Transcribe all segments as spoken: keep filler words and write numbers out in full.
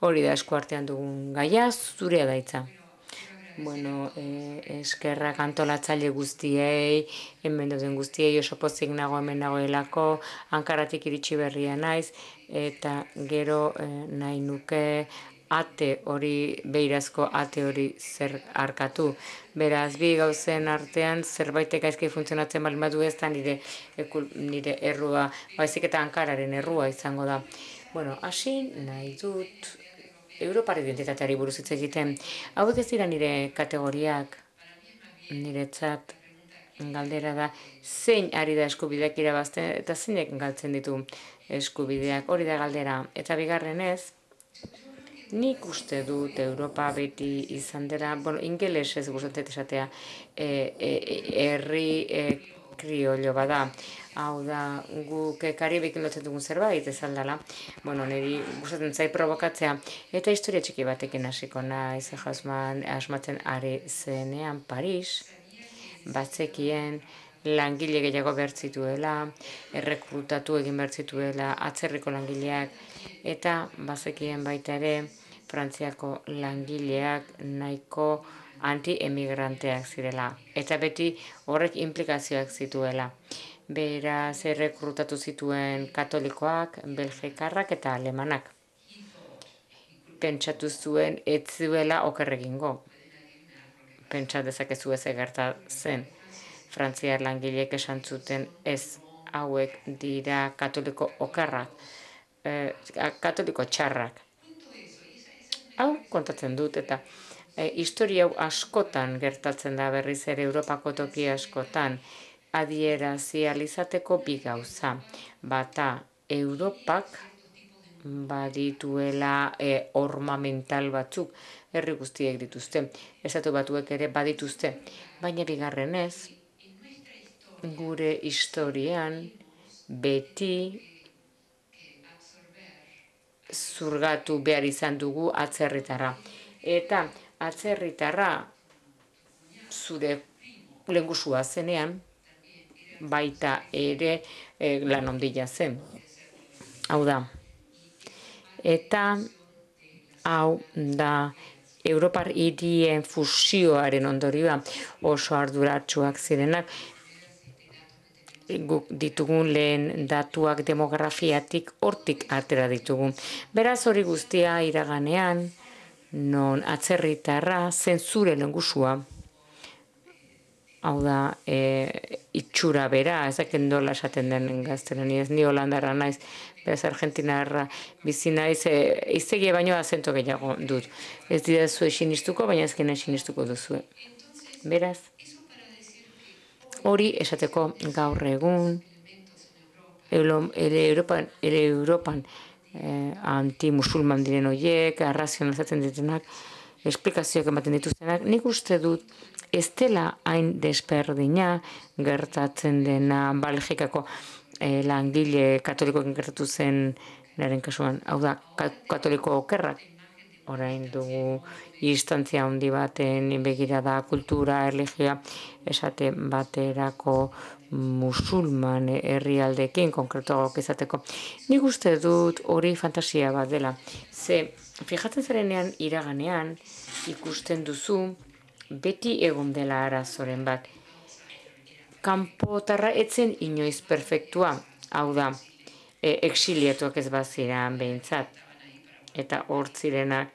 Hori da esku artean dugun gaia, zurea da hitza. Bueno, eh, eskerrak antolatzaile guztiei, hemen duten guztiei, oso pozik nago hemen nagoelako, Ankaratik iritsi berria naiz, eta gero eh, nahi nuke ate hori, beirazko ate hori zer arkatu. Beraz, bi gauzen artean zerbaitek gaizki funtzionatzen baldin badu ez da nire, ekul, nire errua, baizik eta Ankararen errua izango da. Bueno, hasi nahi dut Europar identitateari buruz hitz egiten. Hauek ez dira nire kategoriak, niretzat galdera da, zein ari da eskubideak irabazten eta zeinek galtzen ditu eskubideak, hori da galdera. Eta bigarrenez, nik uste dut Europa beti izan dela, bueno, ingelesez gustatzen esatea, e, e, herri e, kriollo bada. Hau da, guk Karibekin lotzen dugun zerbait ez aldala. Bueno, niri gustatzen zait provokatzea. Eta historia txiki batekin hasiko naiz, jasman asmatzen ari zenean Paris, batzekien langile gehiago bertzituela, errekrutatu egin bertzituela, atzerriko langileak, eta bazekien baita ere Frantziako langileak nahiko anti-emigranteak zirela. Eta beti horrek implikazioak zituela. Beraz, errekrutatu zituen katolikoak, belgikarrak eta alemanak. Pentsatu zuen ez zuela okerregingo. Pentsa dezakezu ez egerta zen. Frantziar langileek esan zuten ez, hauek dira katoliko okerrak, eh, katoliko txarrak. Hau kontatzen dut eta e, historia hau askotan gertatzen da berriz ere Europako toki askotan adierazi alizateko bi gauza. Bata, Europak badituela e, ornamental batzuk, herri guztiek dituzte, estatu batuek ere badituzte, baina bigarrenez, gure historian beti zurgatu behar izan dugu atzerritarra. Eta atzerritarra zure lehengusua zenean, baita ere e, lan ondila zen. Hau da. Eta hau da Europar hirien fusioaren ondorioa oso arduratsuak zirenak, guk ditugun lehen datuak demografiatik hortik atera ditugu. Beraz hori guztia iraganean, non atzerritarra zentzure lehengusua, hau da, e, itxura bera, ezaken dola esaten den gaztelaniaz, ni holandarra naiz, beraz argentinarra bizi naiz, e, iztegia baino azento gehiago dut. Ez dira zuen sinistuko, baina ezkena sinistuko duzu. Beraz, hori esateko gaur egun, ere Europan, ere Europan eh, anti-musulman diren horiek, arrazionalizatzen ditenak, esplikazioak ematen dituztenak, nik uste dut ez dela hain desberdina gertatzen dena Belgikako eh, langile katolikoekin gertatu zen naren kasuan, hau da, katoliko okerrak, orain dugu instantzia handi baten begirada kultura, erlijioa, esate baterako musulman herrialdekin konkretuagoak izateko. Nik uste dut hori fantasia bat dela. Ze, fijatzen zarenean iraganean ikusten duzu beti egon dela arazoren bat. Kanpotarra etzen inoiz perfektua, hau da, e, exiliatuak ez baziran behintzat, eta hor zirenak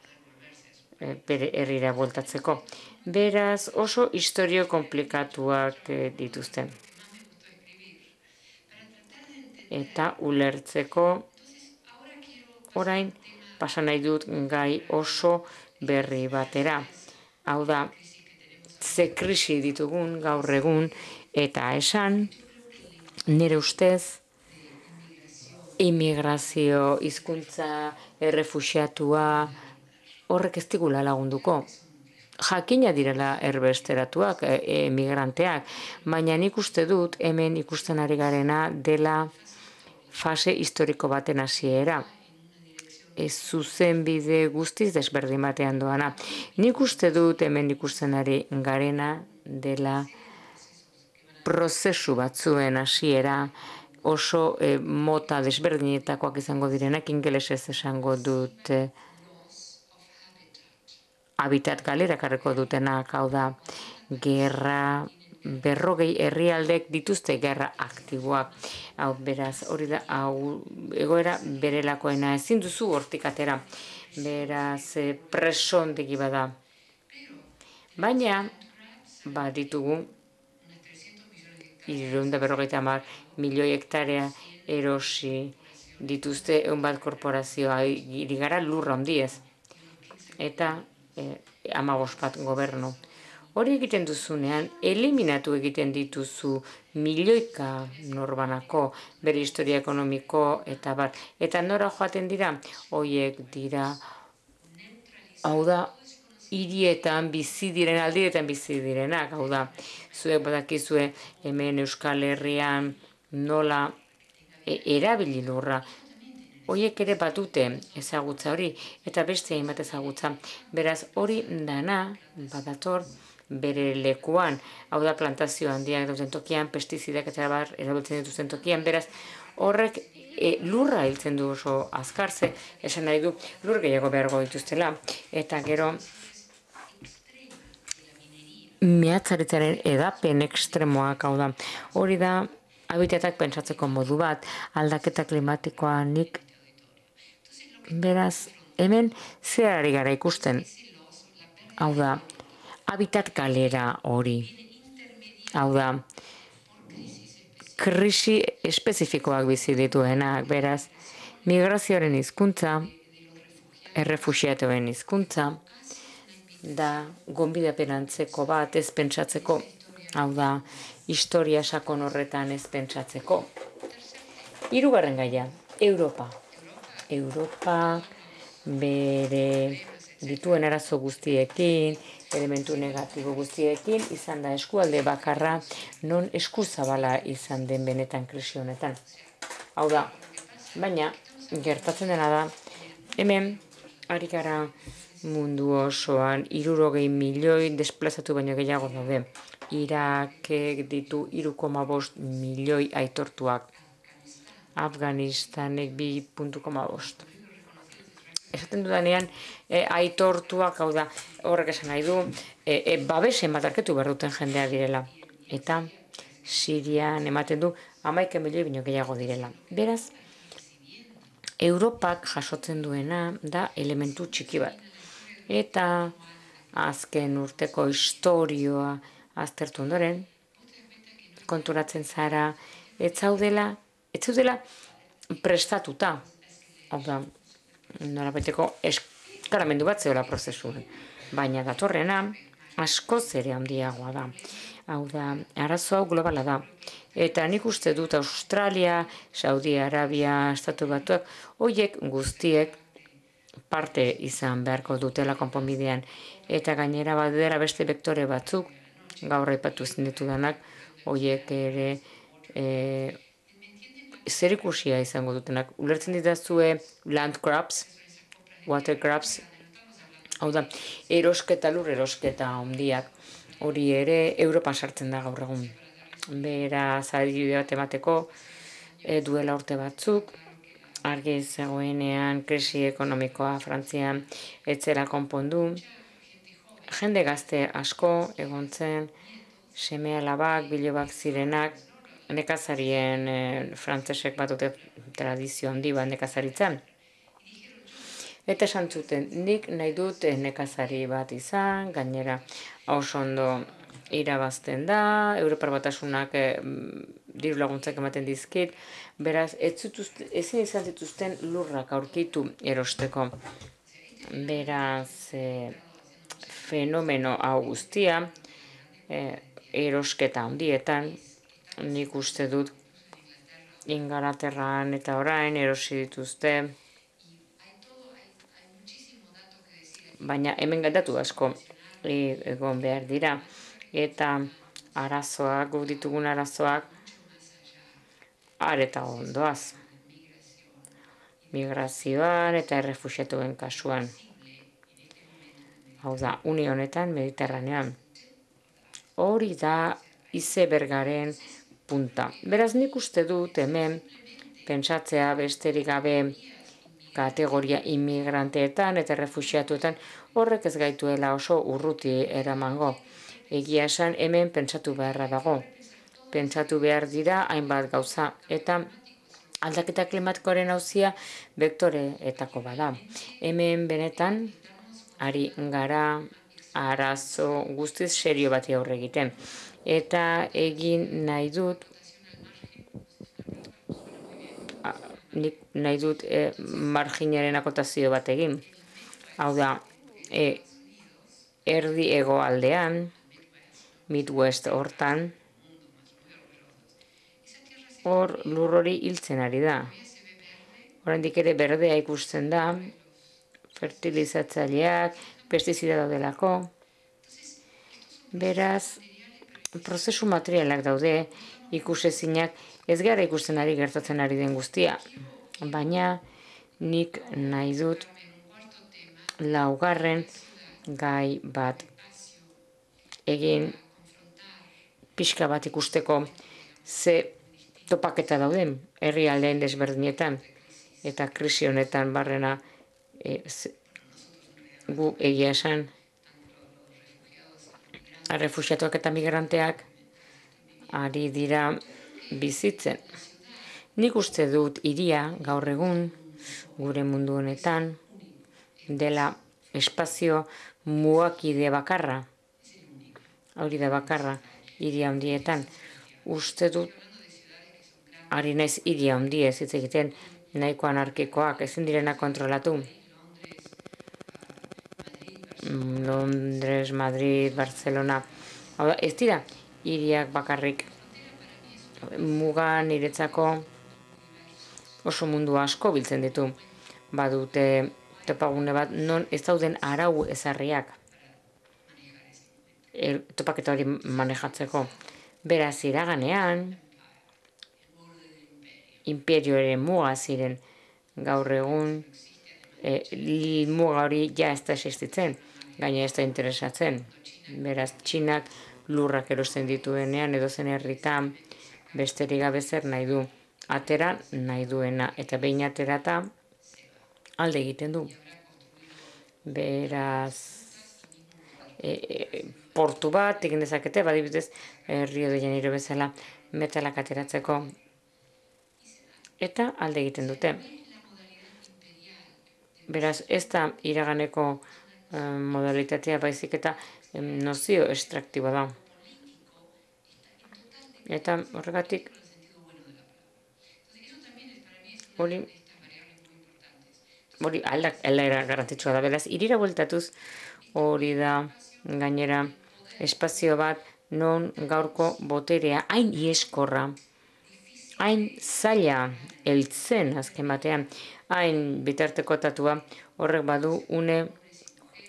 e, bere herrira bueltatzeko. Beraz, oso historio komplikatuak e, dituzten. Eta ulertzeko orain pasa nahi dut gai oso berri batera. Hau da, ze krisi ditugun gaur egun eta esan nire ustez immigrazio, hizkuntza, errefuxiatua horrek ez digula lagunduko. Jakina direla erbesteratuak, emigranteak, baina nik uste dut hemen ikusten ari garena dela fase historiko baten hasiera. Ez zuzen bide guztiz desberdin batean doana. Nik uste dut hemen ikusten ari garena dela prozesu batzuen hasiera oso eh, mota desberdinetakoak izango direnak, ingelesez esango dut. habitat galera karriko dutenak, hau da, gerra, berrogei herrialdek dituzte gerra aktiboak. Hau, beraz, hori da, hau, egoera berelakoena ezin duzu hortik atera. Beraz, presondegi bada. Baina, baditugu, hirurehun eta berrogeita hamar milioi hektarea erosi dituzte ehun bat korporazioa, hiri gara lurra handiez. Eta eh, hamabost bat gobernu. Hori egiten duzunean, eliminatu egiten dituzu milioika norbanako bere historia ekonomiko eta bat. Eta nora joaten dira? Hoiek dira, hau da, hirietan bizi diren, aldietan bizi direnak, hau da, zuek badakizue hemen Euskal Herrian nola e, erabili lurra. Hoiek ere batute ezagutza hori, eta beste hainbat ezagutza. Beraz, hori dana badator bere lekuan, hau da plantazio handiak dauden tokian, pestizidak eta bar erabiltzen dituzten tokian, beraz, horrek e, lurra hiltzen du oso azkarze, esan nahi du lur gehiago behargo dituztela, eta gero mehatzaritzaren edapen ekstremoak, hau da, hori da habitatak pentsatzeko modu bat, aldaketa klimatikoa nik, beraz, hemen zerari gara ikusten, hau da, habitat galera hori, hau da, krisi espezifikoak bizi dituenak, beraz, migrazioaren hizkuntza, errefuxiatuen hizkuntza, da gonbidapen antzeko bat ez pentsatzeko, hau da, historia sakon horretan ez pentsatzeko. Hirugarren gaia, Europa. Europa bere dituen arazo guztiekin, elementu negatibo guztiekin, izan da eskualde bakarra non eskuzabala izan den benetan krisi honetan. Hau da, baina gertatzen dena da, hemen ari gara mundu osoan hirurogei milioi desplazatu baino gehiago daude. Irakek ditu hiru koma bost milioi aitortuak. Afganistanek bi koma bost. Esaten dudanean, e, aitortuak, hau da, horrek esan nahi du, e, e, babesen bat arketu behar duten jendea direla. Eta Sirian ematen du hamaika milioi bino gehiago direla. Beraz, Europak jasotzen duena da elementu txiki bat. Eta azken urteko historioa aztertu ondoren, konturatzen zara, ez zaudela, ez zaudela prestatuta. Hau da, norabaiteko eskaramendu bat zeola prozesuan. Baina datorrena askoz ere handiagoa da. Hau da, arazo hau globala da. Eta nik uste dut Australia, Saudi Arabia, Estatu Batuak, horiek guztiek parte izan beharko dutela konponbidean. Eta gainera badera beste vektore batzuk, gaur aipatu zinditu danak, horiek ere e, zerikusia izango dutenak. Ulertzen ditazue land grabs, water grabs, hau da, erosketa lur, erosketa handiak, hori ere Europan sartzen da gaur egun. Beraz, adibide bat emateko, e, duela urte batzuk, argi zegoenean krisi ekonomikoa Frantzian etzela konpondu, jende gazte asko egon zen, seme alabak, bilobak zirenak, nekazarien e, frantzesek bat dute tradizio handi bat nekazaritzen. Eta esan zuten, nik nahi dut nekazari bat izan, gainera oso ondo irabazten da, Europar Batasunak e, diru laguntzak ematen dizkit, beraz, ezin izan zituzten lurrak aurkitu erosteko. Beraz, e, fenomeno hau guztia, e, erosketa handietan, nik uste dut Ingalaterran eta orain erosi dituzte, baina hemen datu asko egon behar dira, eta arazoak, guk ditugun arazoak, areta ondoaz. Migrazioan eta errefuxiatuen kasuan. Hau da, une honetan Mediterranean. Hori da izebergaren punta. Beraz nik uste dut hemen pentsatzea besterik gabe kategoria immigranteetan eta refuxiatuetan horrek ez gaituela oso urruti eramango. Egia esan hemen pentsatu beharra dago. Pentsatu behar dira hainbat gauza eta aldaketa klimatikoaren auzia bektoreetako bada. Hemen benetan ari gara arazo guztiz serio bati aurre egiten. Eta egin nahi dut, nik nahi dut e, marginaren akotazio bat egin. Hau da, e, erdi hegoaldean, Midwest hortan, hor lur hori hiltzen ari da. Oraindik ere berdea ikusten da, fertilizatzaileak, pestizida daudelako. Beraz, prozesu materialak daude, ikusezinak, ez gara ikusten ari gertatzen ari den guztia. Baina nik nahi dut laugarren gai bat egin pixka bat ikusteko ze topaketa dauden herrialdeen desberdinetan eta krisi honetan barrena e, ze, gu egia esan errefuxiatuak eta migranteak ari dira bizitzen. Nik uste dut hiria gaur egun gure mundu honetan dela espazio mugakide bakarra. Hori da bakarra hiria handietan. Uste dut ari naiz hiria handiez hitz egiten nahiko anarkikoak ezin direna kontrolatu. Londres, Madrid, Barcelona. Hau da, ez dira hiriak bakarrik. Muga niretzako oso mundu asko biltzen ditu. Badute topagune bat non ez dauden arau ezarriak er, topaketa hori manejatzeko. Beraz, iraganean imperioaren muga ziren gaur egun e, muga hori ja ez da existitzen, gaina ez da interesatzen. Beraz, Txinak lurrak erosten dituenean edo zen herritan besterik gabe zer nahi du. Atera nahi duena eta behin aterata alde egiten du. Beraz, e, e, portu bat egin dezakete, badibidez Rio de Janeiro bezala metalak ateratzeko eta alde egiten dute. Beraz, ez da iraganeko eh, modalitatea baizik eta eh, nozio estraktiboa da. Eta horregatik hori hori aldak aldera garrantzitsua da. Beraz, irira bueltatuz hori da gainera espazio bat non gaurko boterea hain ieskorra, hain zaila heltzen azken batean, hain bitartekotatua horrek badu une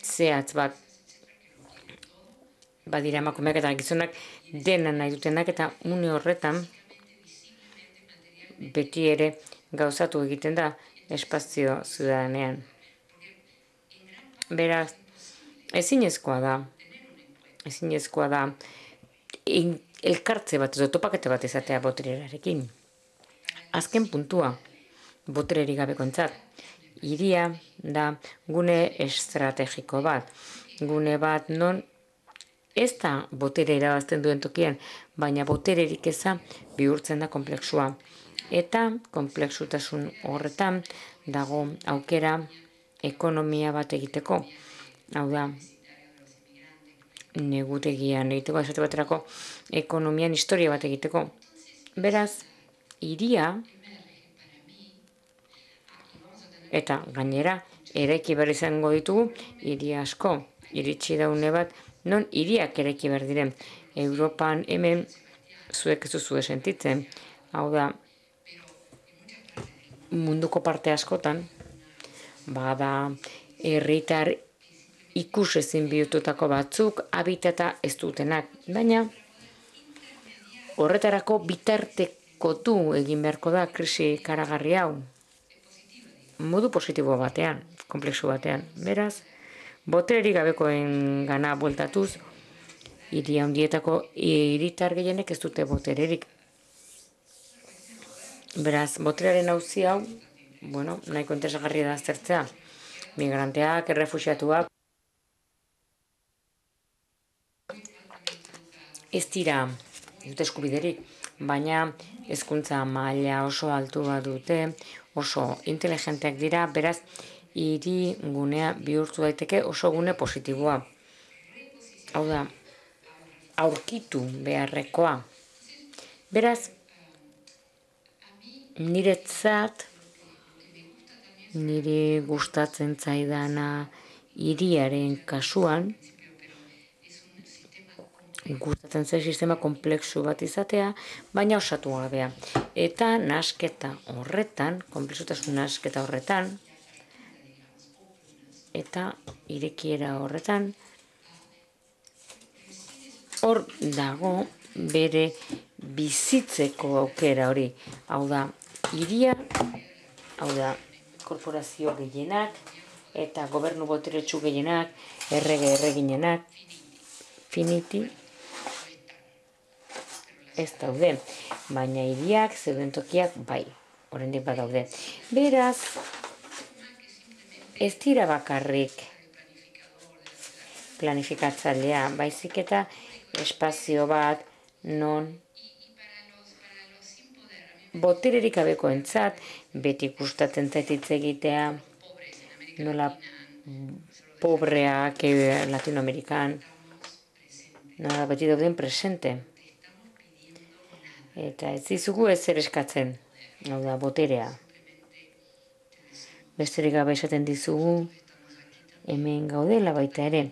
zehatz bat. Badira emakumeak eta gizonak dena nahi dutenak eta une horretan beti ere gauzatu egiten da espazio ziudadanean. Beraz, ezinezkoa da, ezinezkoa da elkartze bat, edo topakete bat izatea botererarekin. Azken puntua, botererik gabekontzat, hiria da gune estrategiko bat, gune bat non ez da botere irabazten duen tokian, baina botererik eza bihurtzen da konplexua. Eta konplexutasun horretan dago aukera ekonomia bat egiteko. Hau da, negutegian egiteko, esate baterako ekonomian historia bat egiteko. Beraz, hiria eta gainera eraiki behar izango ditugu hiri asko. Iritsi daune bat, non hiriak eraiki behar diren. Europan hemen zuek ez duzue sentitzen. Hau da, munduko parte askotan, bada herritar ikusezin bihurtutako batzuk habitata ez dutenak, baina horretarako bitartekotu egin beharko da krisi karagarri hau. Modu positibo batean, komplexu batean. Beraz, botererik gabekoen gana bueltatuz, hiri handietako hiritar gehienek ez dute botererik. Beraz, boterearen auzi hau bueno, nahiko interesgarria da aztertzea. Migranteak, errefuxiatuak, ez dira, ez dute eskubiderik, baina hezkuntza maila oso altua dute, oso inteligenteak dira, beraz, hiri gunea bihurtu daiteke oso gune positiboa. Hau da, aurkitu beharrekoa. Beraz, niretzat, niri gustatzen zaidana hiriaren kasuan, gustatzen zait sistema komplexu bat izatea, baina osatu gabea. Eta nasketa horretan, komplexutasun nasketa horretan, eta irekiera horretan, hor dago bere bizitzeko aukera hori. Hau da, hiria, hau da, korporazio gehienak, eta gobernu boteretsu gehienak, errege erreginenak, finiti, ez daude, baina hiriak, zeuden tokiak, bai, oraindik badaude. Beraz, ez dira bakarrik planifikatzailea, baizik eta espazio bat non botererik gabekoentzat beti gustatzen zait hitz egitea, nola pobreak Latinoamerikan, nola beti dauden presente. Eta ez dizugu ezer eskatzen, hau da, boterea. Besterik gabe esaten dizugu, hemen gaudela baita ere,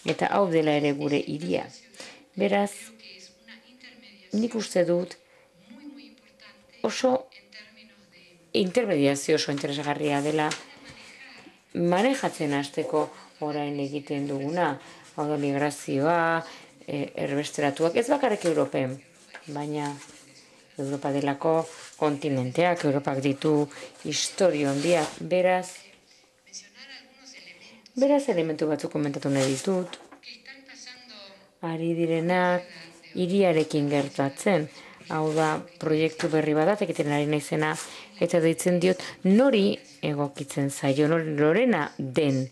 eta hau dela ere gure hiria. Beraz, nik uste dut oso intermediazio oso interesgarria dela manejatzen hasteko orain egiten duguna, hau da migrazioa, erbesteratuak, ez bakarrik Europen, baina Europa delako kontinenteak, Europak ditu historio handiak, beraz, beraz elementu batzuk komentatu nahi ditut, ari direnak hiriarekin gertatzen, hau da proiektu berri bat egiten ari naizena, eta deitzen diot nori egokitzen zaio, norena den,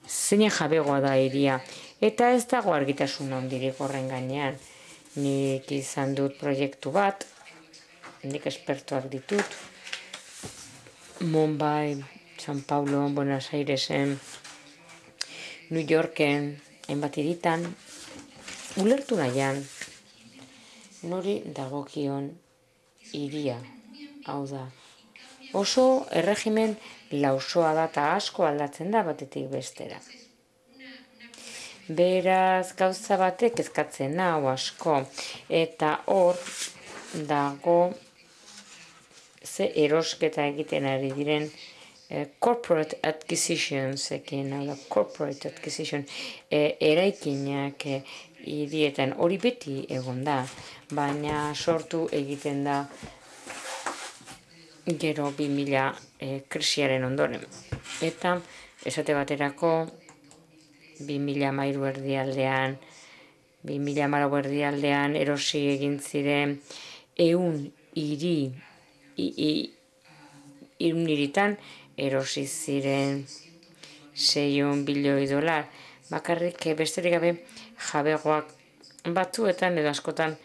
zein jabegoa da hiria, eta ez dago argitasun handirik horren gainean. Nik izan dut proiektu bat, nik espertoak ditut, Mumbai, San Paulo, Buenos Airesen, New Yorken, hainbat hiritan, ulertu nahian, nori dagokion hiria, hau da. Oso erregimen lausoa da eta asko aldatzen da batetik bestera. Beraz, gauza batek kezkatzen hau asko, eta hor dago ze erosketa egiten ari diren eh, corporate acquisitions, ekin, hau da, corporate acquisition, eh, eraikinak eh, hirietan hori beti egon da, baina sortu egiten da gero bi mila eh, krisiaren ondoren. Eta, esate baterako, bi mila hamairu erdialdean, bi mila hamalau erdialdean erosi egin ziren ehun hiri, hirun hiritan erosi ziren seiehun bilioi dolar. Bakarrik besterik gabe jabegoak batzuetan edo askotan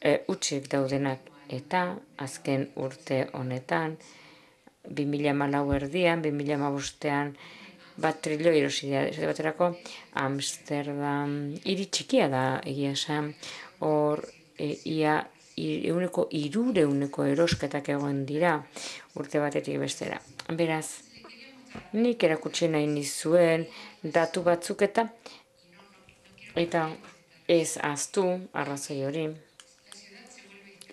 e, utzik daudenak. Eta azken urte honetan, bi mila hamalau erdian, bi mila hamabostean, bat trilioi erosi dira, esate baterako, Amsterdam hiri txikia da egia esan, hor e, ia euneko hirureuneko erosketak egon dira urte batetik bestera. Beraz, nik erakutsi nahi nizuen datu batzuk eta eta ez ahaztu arrazoi hori.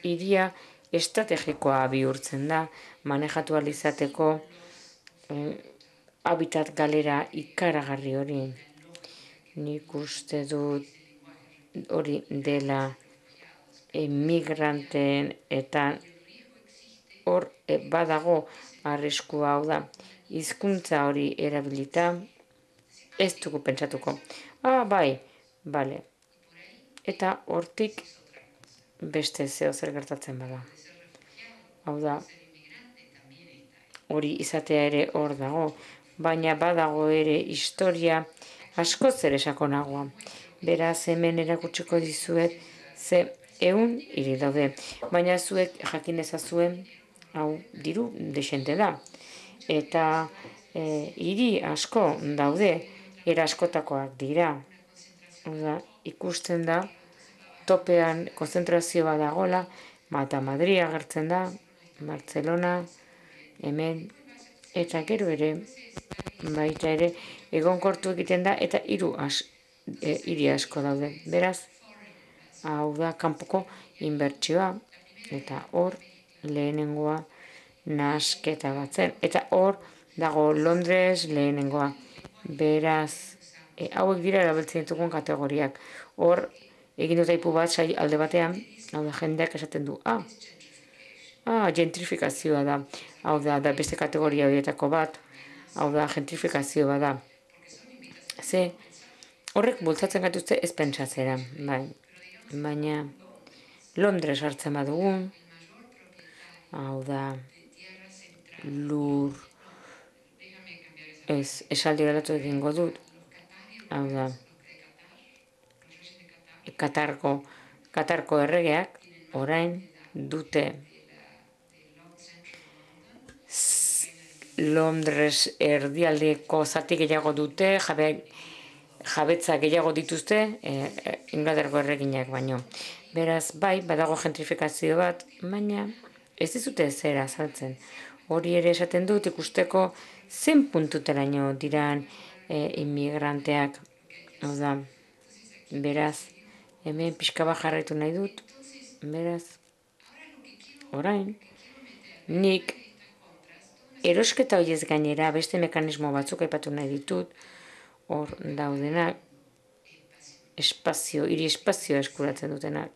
Hiria estrategikoa bihurtzen da, manejatu ahal izateko eh, habitat galera ikaragarri hori. Nik uste dut hori dela emigranteen eta hor e, badago arriskua, hau da, hizkuntza hori erabilita ez dugu pentsatuko. Ah, bai, bale. Eta hortik beste zeo zer gertatzen bada. Hau da, hori izatea ere hor dago, baina badago ere historia askoz ere sakonagoa. Beraz, hemen erakutsiko dizuet, ze ehun hiri daude, baina zuek jakin ezazuen, hau diru desente da. Eta hiri asko daude, era askotakoak dira. Oda, ikusten da, topean konzentrazioa dagola, eta Madrid agertzen da, Barcelona, hemen, eta gero ere, baita ere, egonkortu egiten da, eta hiru hiri asko daude. Beraz, hau da, kanpoko inbertsioa, eta hor, lehenengoa, nasketa batzen. Eta hor, dago Londres lehenengoa. Beraz, hauek dira erabiltzen ditugun kategoriak. Hor, egin dut aipu bat alde batean, hau da, jendeak esaten du, ah, ah, gentrifikazioa da. Hau da, da beste kategoria horietako bat, hau da, gentrifikazioa da. Ze, horrek bultzatzen gatuzte ez pentsatzera, bai. Baina, Londres hartzen badugu, hau da, lur, ez, esaldi galatu egingo dut, hau da, Katarko, Katarko erregeak, orain, dute Londres erdialdeko zati gehiago dute, jabe, jabetza gehiago dituzte, e, Inglaterrako erreginak baino. Beraz, bai, badago gentrifikazio bat, baina ez dizute zera azaltzen. Hori ere esaten dut ikusteko zen puntuteraino diran e, immigranteak. Oda, beraz, hemen pixka bat jarraitu nahi dut, beraz, orain, nik erosketa horiez gainera beste mekanismo batzuk aipatu nahi ditut, hor daudenak, espazio, hiri espazioa eskuratzen dutenak.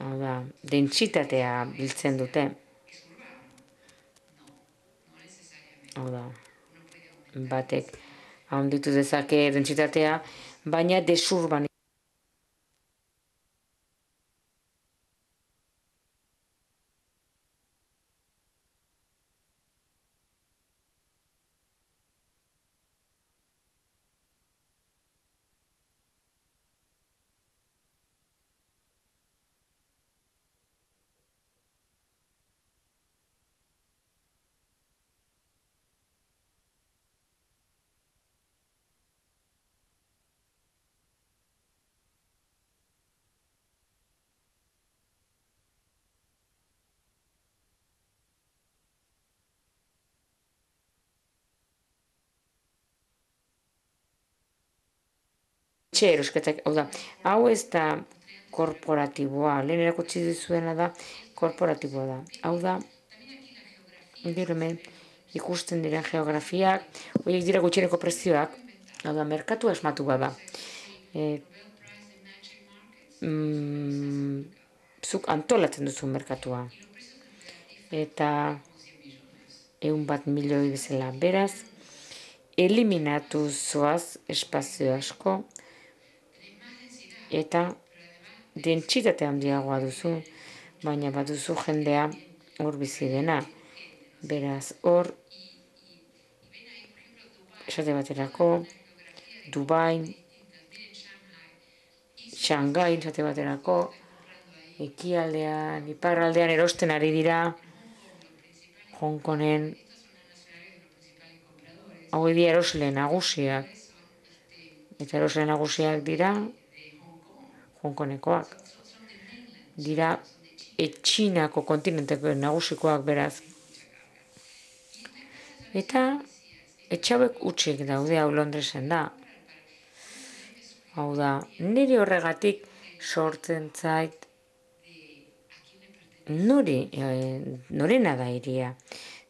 Hau da, dentsitatea biltzen dute. Hau da, batek handitu dezake dentsitatea, baina desurban. Erosketak, hau da, hau ez da korporatiboa, lehen erakutsi dizuena da korporatiboa da. Hau da, gero hemen ikusten dira geografiak, horiek dira gutxieneko prezioak, hau da, merkatu asmatu bada. E, mm, zuk antolatzen duzu merkatua. Eta egun bat milioi bezala beraz, eliminatu zoaz espazio asko, eta dentsitate handiagoa duzu, baina baduzu jendea hor bizi dena. Beraz, hor, esate baterako, Dubai, Shanghai, esate baterako, ekialdean, iparraldean erosten ari dira, Hong Kongen, hau dira erosle nagusiak, eta erosle nagusiak dira, Hong Kongekoak. Dira etxinako kontinenteko nagusikoak beraz. Eta etxauek utxik daude hau Londresen da. Hau da, niri horregatik sortzen zait nori, e, norena da iria.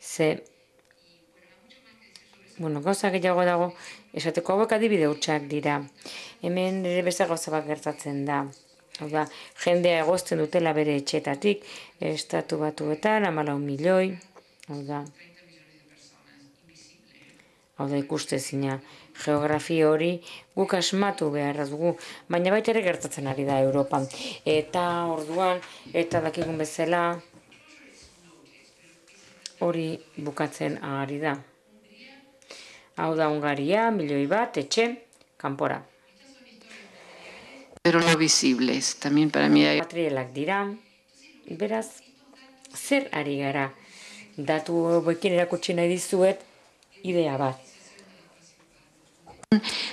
Ze, bueno, gauza gehiago dago, esateko hauek adibide hutsak dira. Hemen ere beste gauza bat gertatzen da. Hau da, jendea egozten dutela bere etxetatik, estatu batuetan, hamalau milioi, hau da, hau da ikustezina. geografia hori guk asmatu beharra dugu, baina baita ere gertatzen ari da Europan. Eta orduan, eta dakigun bezala, hori bukatzen ari da. Hau da Hungaria, milioi bat, etxe, kanpora. Pero no visibles, también para mí hay... Materialak dira, beraz, zer ari gara? Datu boekin erakutsi nahi dizuet, idea bat.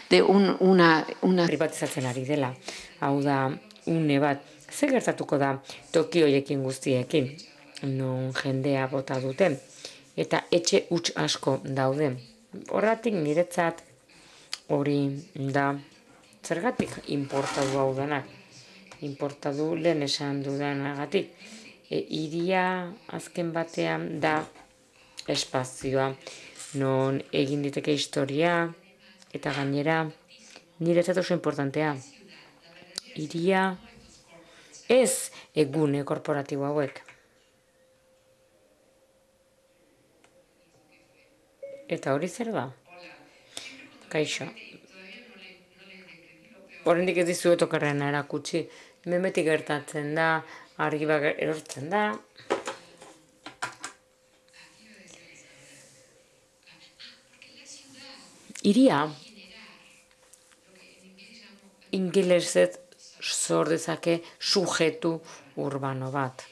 De un, una, una... privatizatzen ari dela. Hau da, une bat, zer gertatuko da toki hoiekin guztiekin, non jendea bota dute, eta etxe huts asko daude. Horratik niretzat hori da, zergatik importadu hau denak. Importadu lehen esan dudanagatik. E, iria azken batean da espazioa, non egin diteke historia, eta gainera, niretzat oso importantea. Iria ez egune korporatibo hauek. Eta hori zer da? Kaixo. Oraindik ez dizuet okerrena erakutsi. Hemen beti gertatzen da, argi bat erortzen da. Iria ingelesez sor dezake sujetu urbano bat.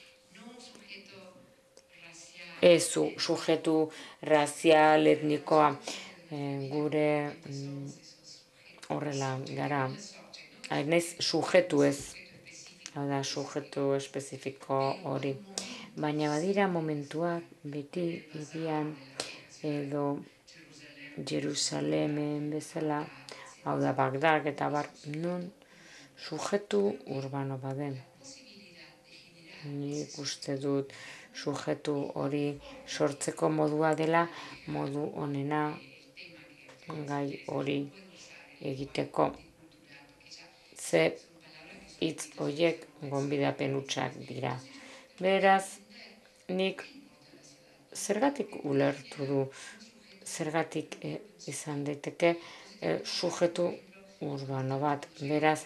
Ez su, sujetu razial, etnikoa, e, gure mm, horrela gara. Naiz sujetu ez, hau da sujetu espezifiko hori. Baina badira momentuak beti irian edo Jerusalemen bezala, hau da Bagdad eta bar, non sujetu urbano baden. Nik uste dut sujetu hori sortzeko modua dela, modu onena gai hori egiteko. Ze hitz horiek gonbidapen hutsak dira. Beraz, nik zergatik ulertu du, zergatik eh, izan daiteke eh, sujetu urbano bat. Beraz,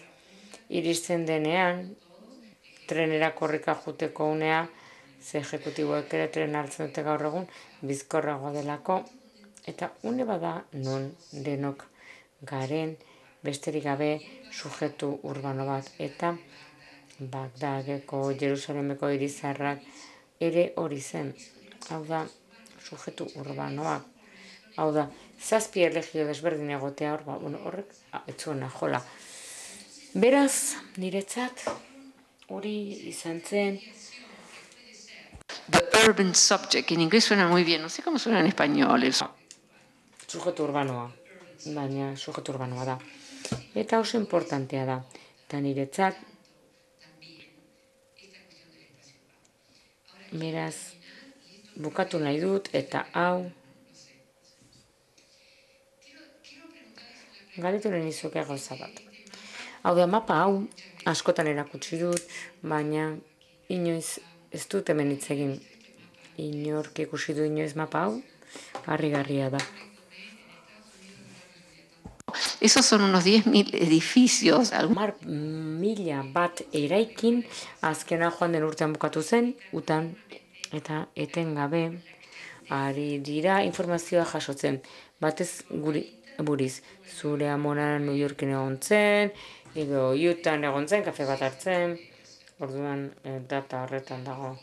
iristen denean, trenera korrika juteko unea, ze ejekutiboek ere tren hartzen dute gaur egun, bizkorragoa delako, eta une bada non denok garen, besterik gabe sujetu urbano bat. Eta Bagdadeko, Jerusalemeko irizarrak ere hori zen. Hau da, sujetu urbanoak. Hau da, zazpi erlegio desberdin egotea hor, ba, bueno, horrek, ez zuena, jola. Beraz, niretzat, hori izan zen. The urban subject, en inglés suena muy bien, no sé cómo suena en español. El... Sujetu urbanoa, baina sujetu urbanoa da. Eta oso importantea da. Eta niretzat, beraz, bukatu nahi dut, eta hau, galetu nahi nizuke gauza bat. Hau da, mapa hau, askotan erakutsi dut, baina inoiz ez dut hemen hitz egin. Inork ikusi du inoiz mapa hau, harrigarria da. Esos son unos diez mil edificios. Mar mila bat eraikin azkena joan den urtean bukatu zen, utan eta etengabe ari dira informazioa jasotzen. Batez guri buriz, zure amona New Yorken egon zen, edo Utah egon zen, kafe bat hartzen, orduan e, data horretan dago.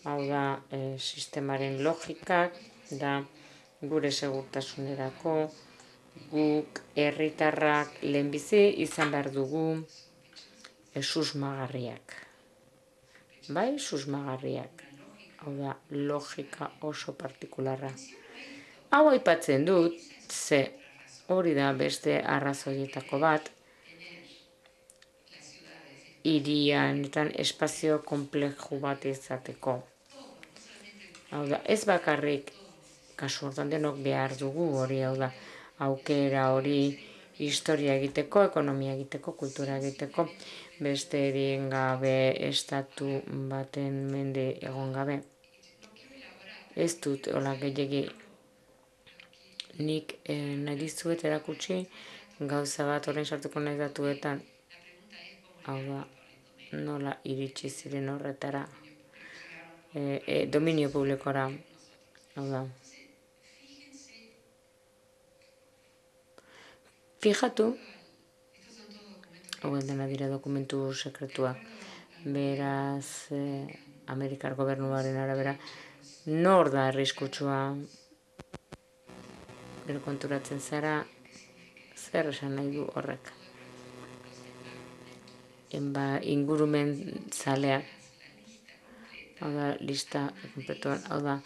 Hau da, e, sistemaren logikak, da gure segurtasunerako, guk herritarrak lehenbizi izan behar dugu e, susmagarriak. Bai, susmagarriak. Hau da, logika oso partikularra. Hau aipatzen dut, ze hori da beste arrazoietako bat, hirianetan espazio konplexu bat izateko. Hau da, ez bakarrik, kasu hortan denok behar dugu hori, hau da, aukera hori historia egiteko, ekonomia egiteko, kultura egiteko, beste erien gabe, estatu baten mende egon gabe. Ez dut, hola gehiagi nik eh, nahi dizuet erakutsi gauza bat orain sartuko nahi datuetan. Hau da, nola iritsi ziren horretara. E, e, dominio publikora. Hau da. Fijatu, hau dena dira dokumentu sekretuak. Beraz, eh, Amerikar gobernuaren arabera, nor da arriskutsua? Gero konturatzen zara, zer esan nahi du horrek. Enba, ingurumen zaleak, hau da, lista kompletuan, hau da,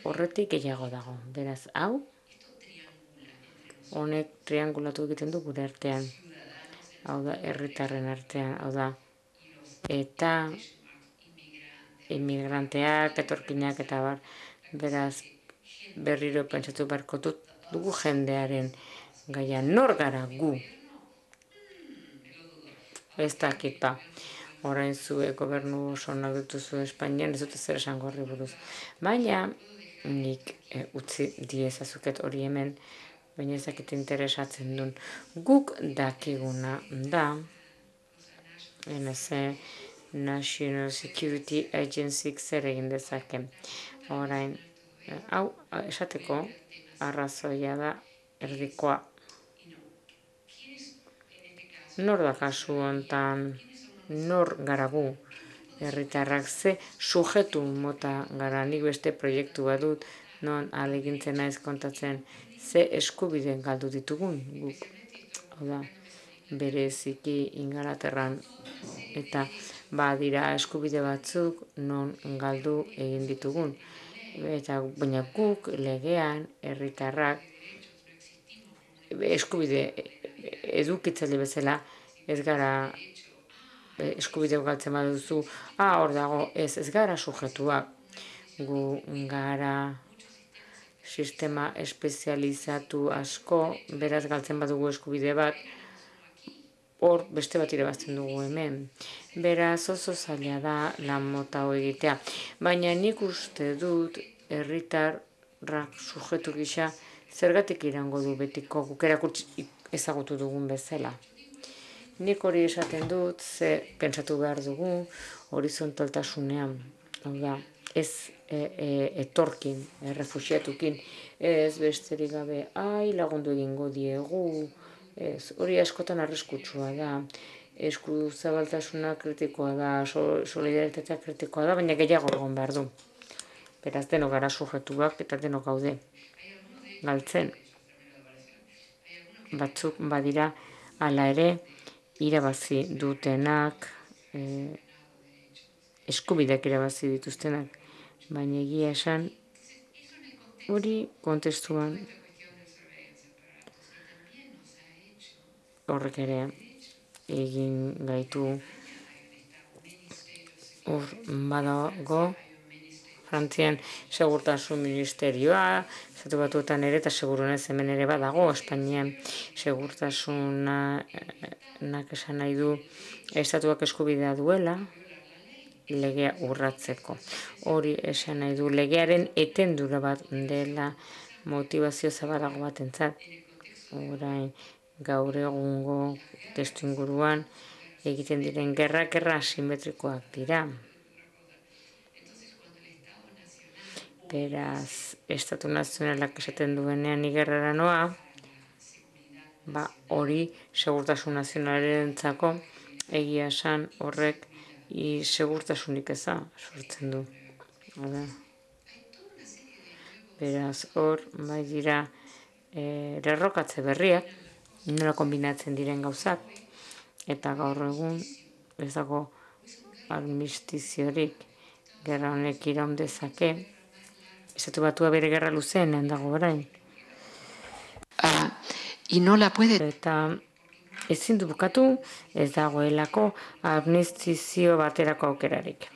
horretik gehiago dago. Beraz, hau, honek triangulatu egiten du gure artean. Hau da, herritarren artean, hau da, eta inmigranteak, etorkinak eta bar, beraz, berriro pentsatu beharko dut dugu jendearen gaia, nor gara gu? Ez dakit ba, orain zue gobernu oso onak dituzu Espainian, ez dut zer esango horri buruz. Baina, nik e, utzi diezazuket hori hemen, baina ez dakit interesatzen duen. Guk dakiguna da, N S A, National Security Agency zer egin dezake. Orain, hau, esateko, arrazoia da erdikoa. Nor da kasu hontan, nor gara gu, herritarrak ze sujetu mota gara, nik beste proiektu bat dut, non alegintzen naiz kontatzen, ze eskubide galdu ditugun guk. Hau da, bereziki Ingalaterran eta badira eskubide batzuk non galdu egin ditugun. Eta baina guk legean herritarrak eskubide edukitzaile bezala ez gara eskubide galtzen baduzu, ah, hor dago, ez, ez gara sujetuak. Gu gara sistema espezializatu asko, beraz galtzen badugu eskubide bat, hor beste bat irabazten dugu hemen. Beraz oso zaila da lan mota hau egitea. Baina nik uste dut herritarrak sujetu gisa zergatik irango du betiko guk erakutsi ezagutu dugun bezala. Nik hori esaten dut, ze pentsatu behar dugu horizontaltasunean. Hau da, ez e, e, etorkin, e, refuxiatukin, ez besterik gabe, ai lagundu egingo diegu, ez, hori askotan arriskutsua da, esku zabaltasuna kritikoa da, so, solidaritatea kritikoa da, baina gehiago egon behar du. Beraz, denok gara sujetuak eta denok gaude galtzen. Batzuk badira hala ere irabazi dutenak, e, eskubideak irabazi dituztenak, baina egia esan hori kontestuan horrek ere egin gaitu hor badago Frantzian segurtasun ministerioa, Estatu Batuetan ere, eta segurunez hemen ere badago, Espainian segurtasunak esan nahi du estatuak eskubidea duela, legea urratzeko. Hori esan nahi du legearen etendura bat dela motivazio zabalago bat entzat. Orain gaur egungo testu inguruan egiten diren gerra, gerra asimetrikoak dira. Beraz, Estatu Nazionalak esaten duenean igerrara noa, ba, hori segurtasun nazionalarentzako egia esan horrek i segurtasunik eza sortzen du. Hala. Beraz, hor, bai dira, e, lerrokatze berriak, nola kombinatzen diren gauzak, eta gaur egun ez dago armistiziorik gerra honek iraun dezake, Estatu Batua bere gerra luzeenean dago orain. Ah, y no la puede... Eta ezin du bukatu ez dagoelako amnistizio baterako aukerarik.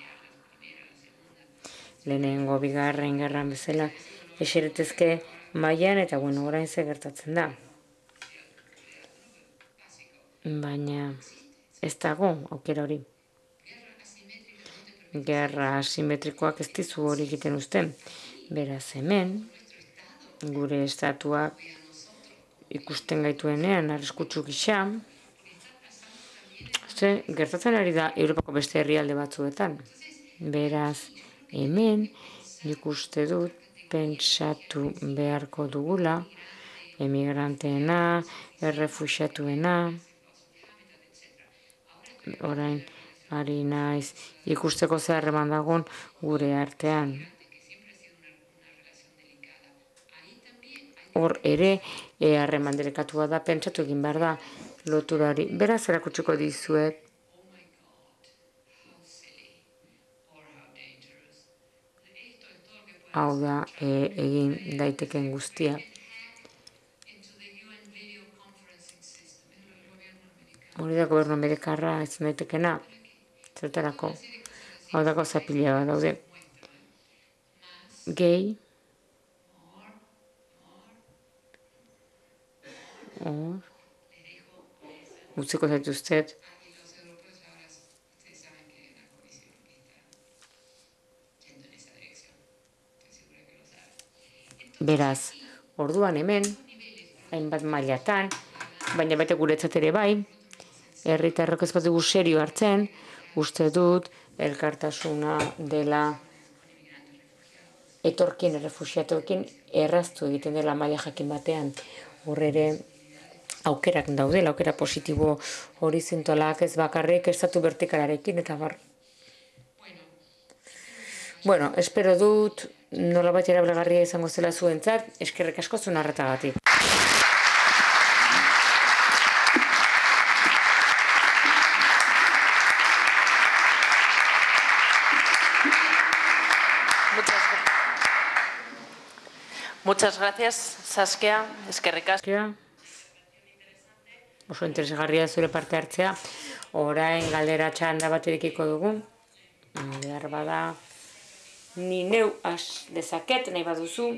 Lehenengo bigarren gerran bezala eseretezke mailan eta bueno, orain ze gertatzen da. Baina ez dago aukera hori. Gerra asimetrikoak ez dizu hori egiten uzten. Beraz hemen, gure estatuak ikusten gaituenean arriskutsu gisa, ze gertatzen ari da Europako beste herrialde batzuetan. Beraz, hemen nik uste dut pentsatu beharko dugula emigranteena, errefuxiatuena, orain ari naiz ikusteko zer harreman dagoen gure artean. Hor ere, harreman delikatua da, pentsatu egin behar da loturari. Beraz, erakutsiko dizuet, hau da, e, egin daiteken guztia. Hori da gobernu amerikarra ez daitekena, zertarako, hau dako zapila bat daude. Gehi, hor, utziko zaituztet, beraz, orduan hemen, hainbat mailatan, baina baita guretzat ere bai, herritarrok ez bat dugu serio hartzen, uste dut, elkartasuna dela etorkin, errefuxiatuekin, erraztu egiten dela maila jakin batean. Hor ere, aukerak daudela, aukera positibo horizontalak ez bakarrik estatu vertikalarekin, eta bar. Bueno, espero dut, nola bat erabilgarria izango zela zuentzat, eskerrik asko zuen arretagatik. Muchas gracias, Saskia, eskerrik asko. Oso interesgarria zure parte hartzea. Orain galdera txanda bat edikiko dugu. Behar bada, ni neu has dezaket, nahi baduzu.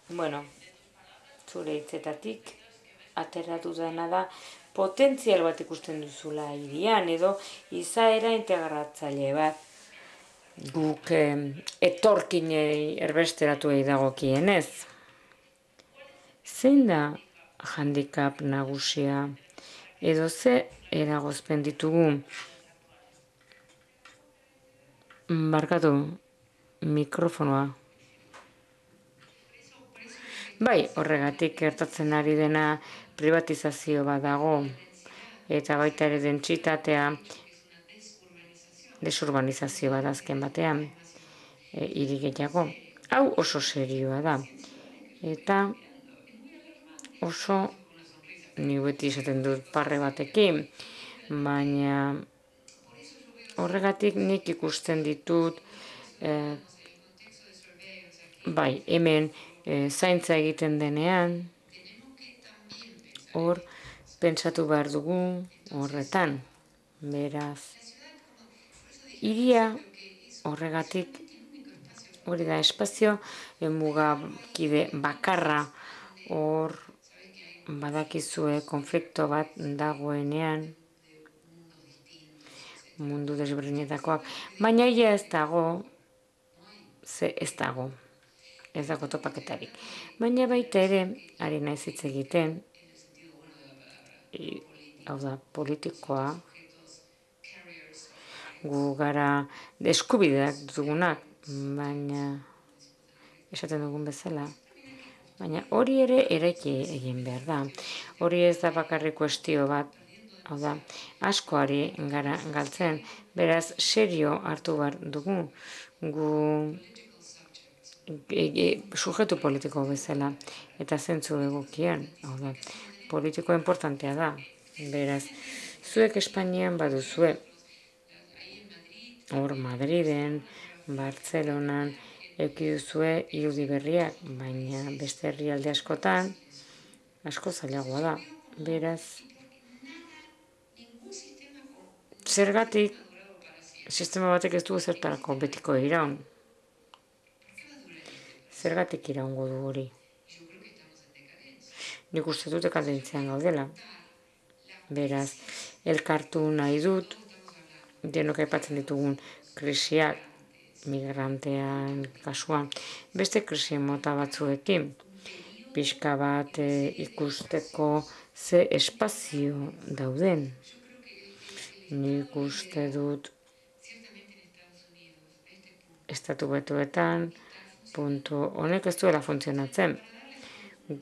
Bueno, zure hitzetatik ateratu dena da, potentzial bat ikusten duzula hirian, edo izaera integratzaile bat. Guk eh, etorkinei erbesteratuei dagokienez. Zein da handicap nagusia edo ze eragozpen ditugu? Barkatu, mikrofonoa. Bai, horregatik gertatzen ari dena privatizazio bat dago, eta baita ere dentsitatea, desurbanizazio bat azken batean, e, hiri gehiago. Hau oso serioa da. Eta oso, ni beti esaten dut parre batekin, baina horregatik nik ikusten ditut, eh, bai, hemen eh, zaintza egiten denean, hor, pentsatu behar dugu horretan, beraz. Hiria horregatik, hori da espazio, mugakide bakarra, hor, badakizue konflikto bat dagoenean, mundu desberdinetakoak, baina ia ez dago, ze ez dago, ez dago topaketarik. Baina baita ere, ari naiz hitz egiten, hau da, politikoa, gu gara eskubideak dugunak, baina esaten dugun bezala, baina hori ere eraiki egin behar da. Hori ez da bakarrik kuestio bat, hau da, askoari gara galtzen, beraz serio hartu behar dugu, gu e, e, sujetu politiko bezala, eta zentzu egokian, hau da, politiko importantea da, beraz, zuek Espainian baduzue, hor Madriden, Bartzelonan, eki duzue irudi berriak, baina beste herrialde askotan, asko zailagoa da, beraz, zergatik, sistema batek ez dugu zertarako betiko iraun. Zergatik iraungo du hori. Nik uste dut dekadentzian gaudela. Beraz, elkartu nahi dut, denok aipatzen ditugun krisiak, migrantean kasuan, beste krisi mota batzuekin. pixka bat ikusteko ze espazio dauden. Nik uste dut Estatu Batuetan puntu honek ez duela funtzionatzen.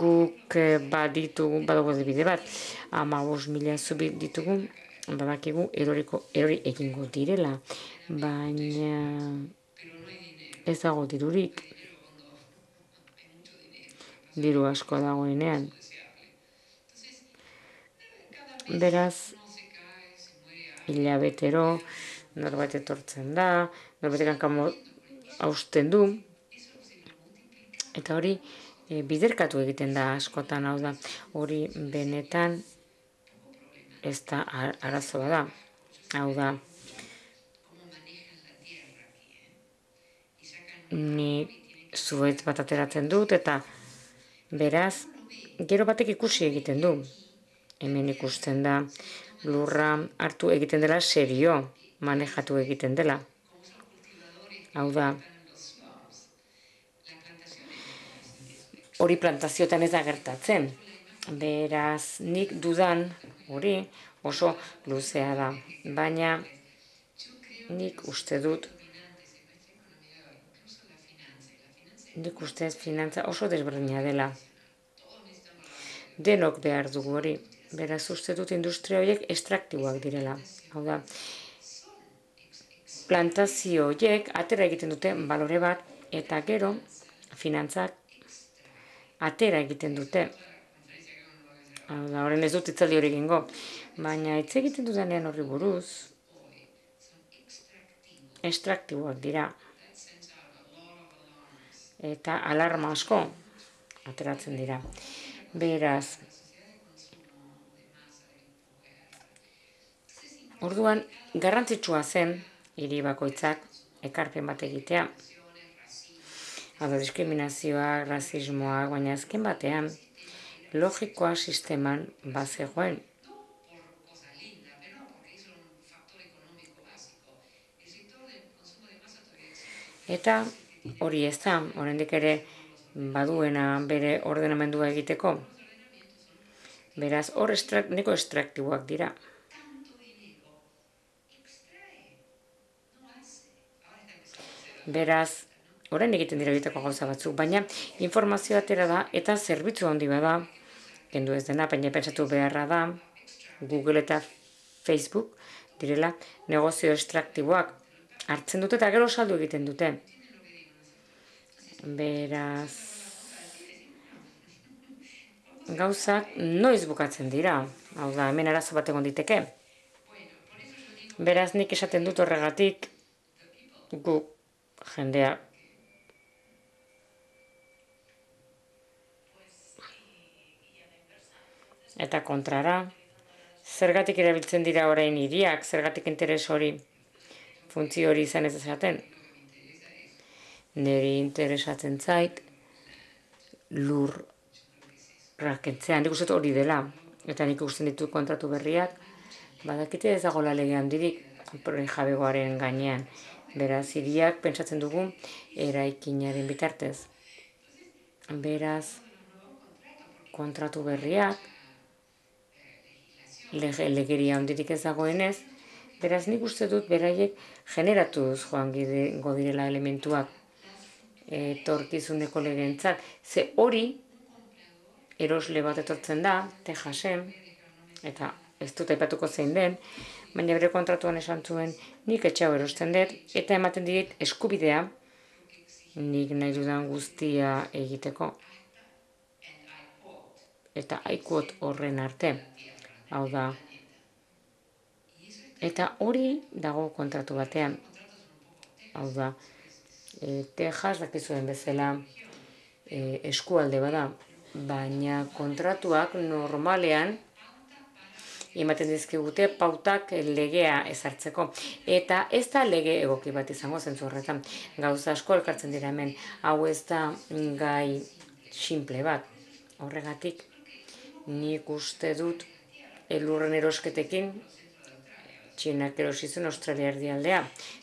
Guk baditugu, badugu bide bat, hamabost mila zubi ditugu, badakigu eroriko erori egingo direla, baina ez dago dirurik. Diru asko dagoenean. Beraz, hilabetero, norbait etortzen da, norbait kankamo hausten du, eta hori e, biderkatu egiten da askotan, hau da, hori benetan ez da arazoa da, hau da, ni zuhaitz bat ateratzen dut, eta beraz, gero batek ikusi egiten du. Hemen ikusten da, lurra hartu egiten dela serio, manejatu egiten dela. Hau da, hori plantazioetan ez da gertatzen. Beraz, nik dudan hori oso luzea da. Baina, nik uste dut, nik uste finantza oso desberdina dela. Denok behar dugu hori. Beraz, uste dut industria horiek estraktiboak direla. Hau da, plantazio horiek atera egiten dute balore bat, eta gero, finantzak atera egiten dute. Hau da, horren ez dut itzaldi hori egingo. Baina, hitz egiten dudanean horri buruz, estraktiboak dira. Eta alarma asko ateratzen dira. Beraz, orduan, garrantzitsua zen, hiri bakoitzak ekarpen bat egitea. Hau da, diskriminazioak, rasismoak, baina azken batean, logikoa sisteman bazegoen. Eta hori ez da, oraindik ere baduena bere ordenamendua egiteko. Beraz, hor neko estraktiboak dira. Beraz, orain egiten dira egiteko gauza batzuk, baina informazio atera da eta zerbitzu handi bada, kendu ez dena, baina pentsatu beharra da, Google eta Facebook direla negozio estraktiboak hartzen dute eta gero saldu egiten dute. Beraz, gauzak noiz bukatzen dira, hau da, hemen arazo bat egon diteke. Beraz, nik esaten dut horregatik, gu jendea eta kontrara, zergatik erabiltzen dira orain hiriak, zergatik interes hori, funtzio hori izan ez esaten. Neri interesatzen zait, lur rakentzean, nik uste hori dela, eta nik ikusten ditu kontratu berriak, badakite ez dago lege handirik jabegoaren gainean. Beraz, hiriak pentsatzen dugu eraikinaren bitartez. Beraz, kontratu berriak, legeria handirik ez dagoenez, beraz, nik uste dut beraiek generatuz joan direla elementuak etorkizuneko legentzat. Ze hori, erosle bat etortzen da, Texasen, eta ez dut aipatuko zein den, baina bere kontratuan esan zuen nik etxau erosten dut, eta ematen dit eskubidea nik nahi dudan guztia egiteko. Eta haikuot horren arte. Hau da. Eta hori dago kontratu batean. Hau da. E, Texas dakizuen bezala e, eskualde bada, baina kontratuak normalean ematen dizkigute pautak legea ezartzeko. Eta ez da lege egoki bat izango zentzu horretan. Gauza asko elkartzen dira hemen. Hau ez da gai simple bat. Horregatik, nik uste dut elurren erosketekin Txinak erosizuen Australia erdialdea.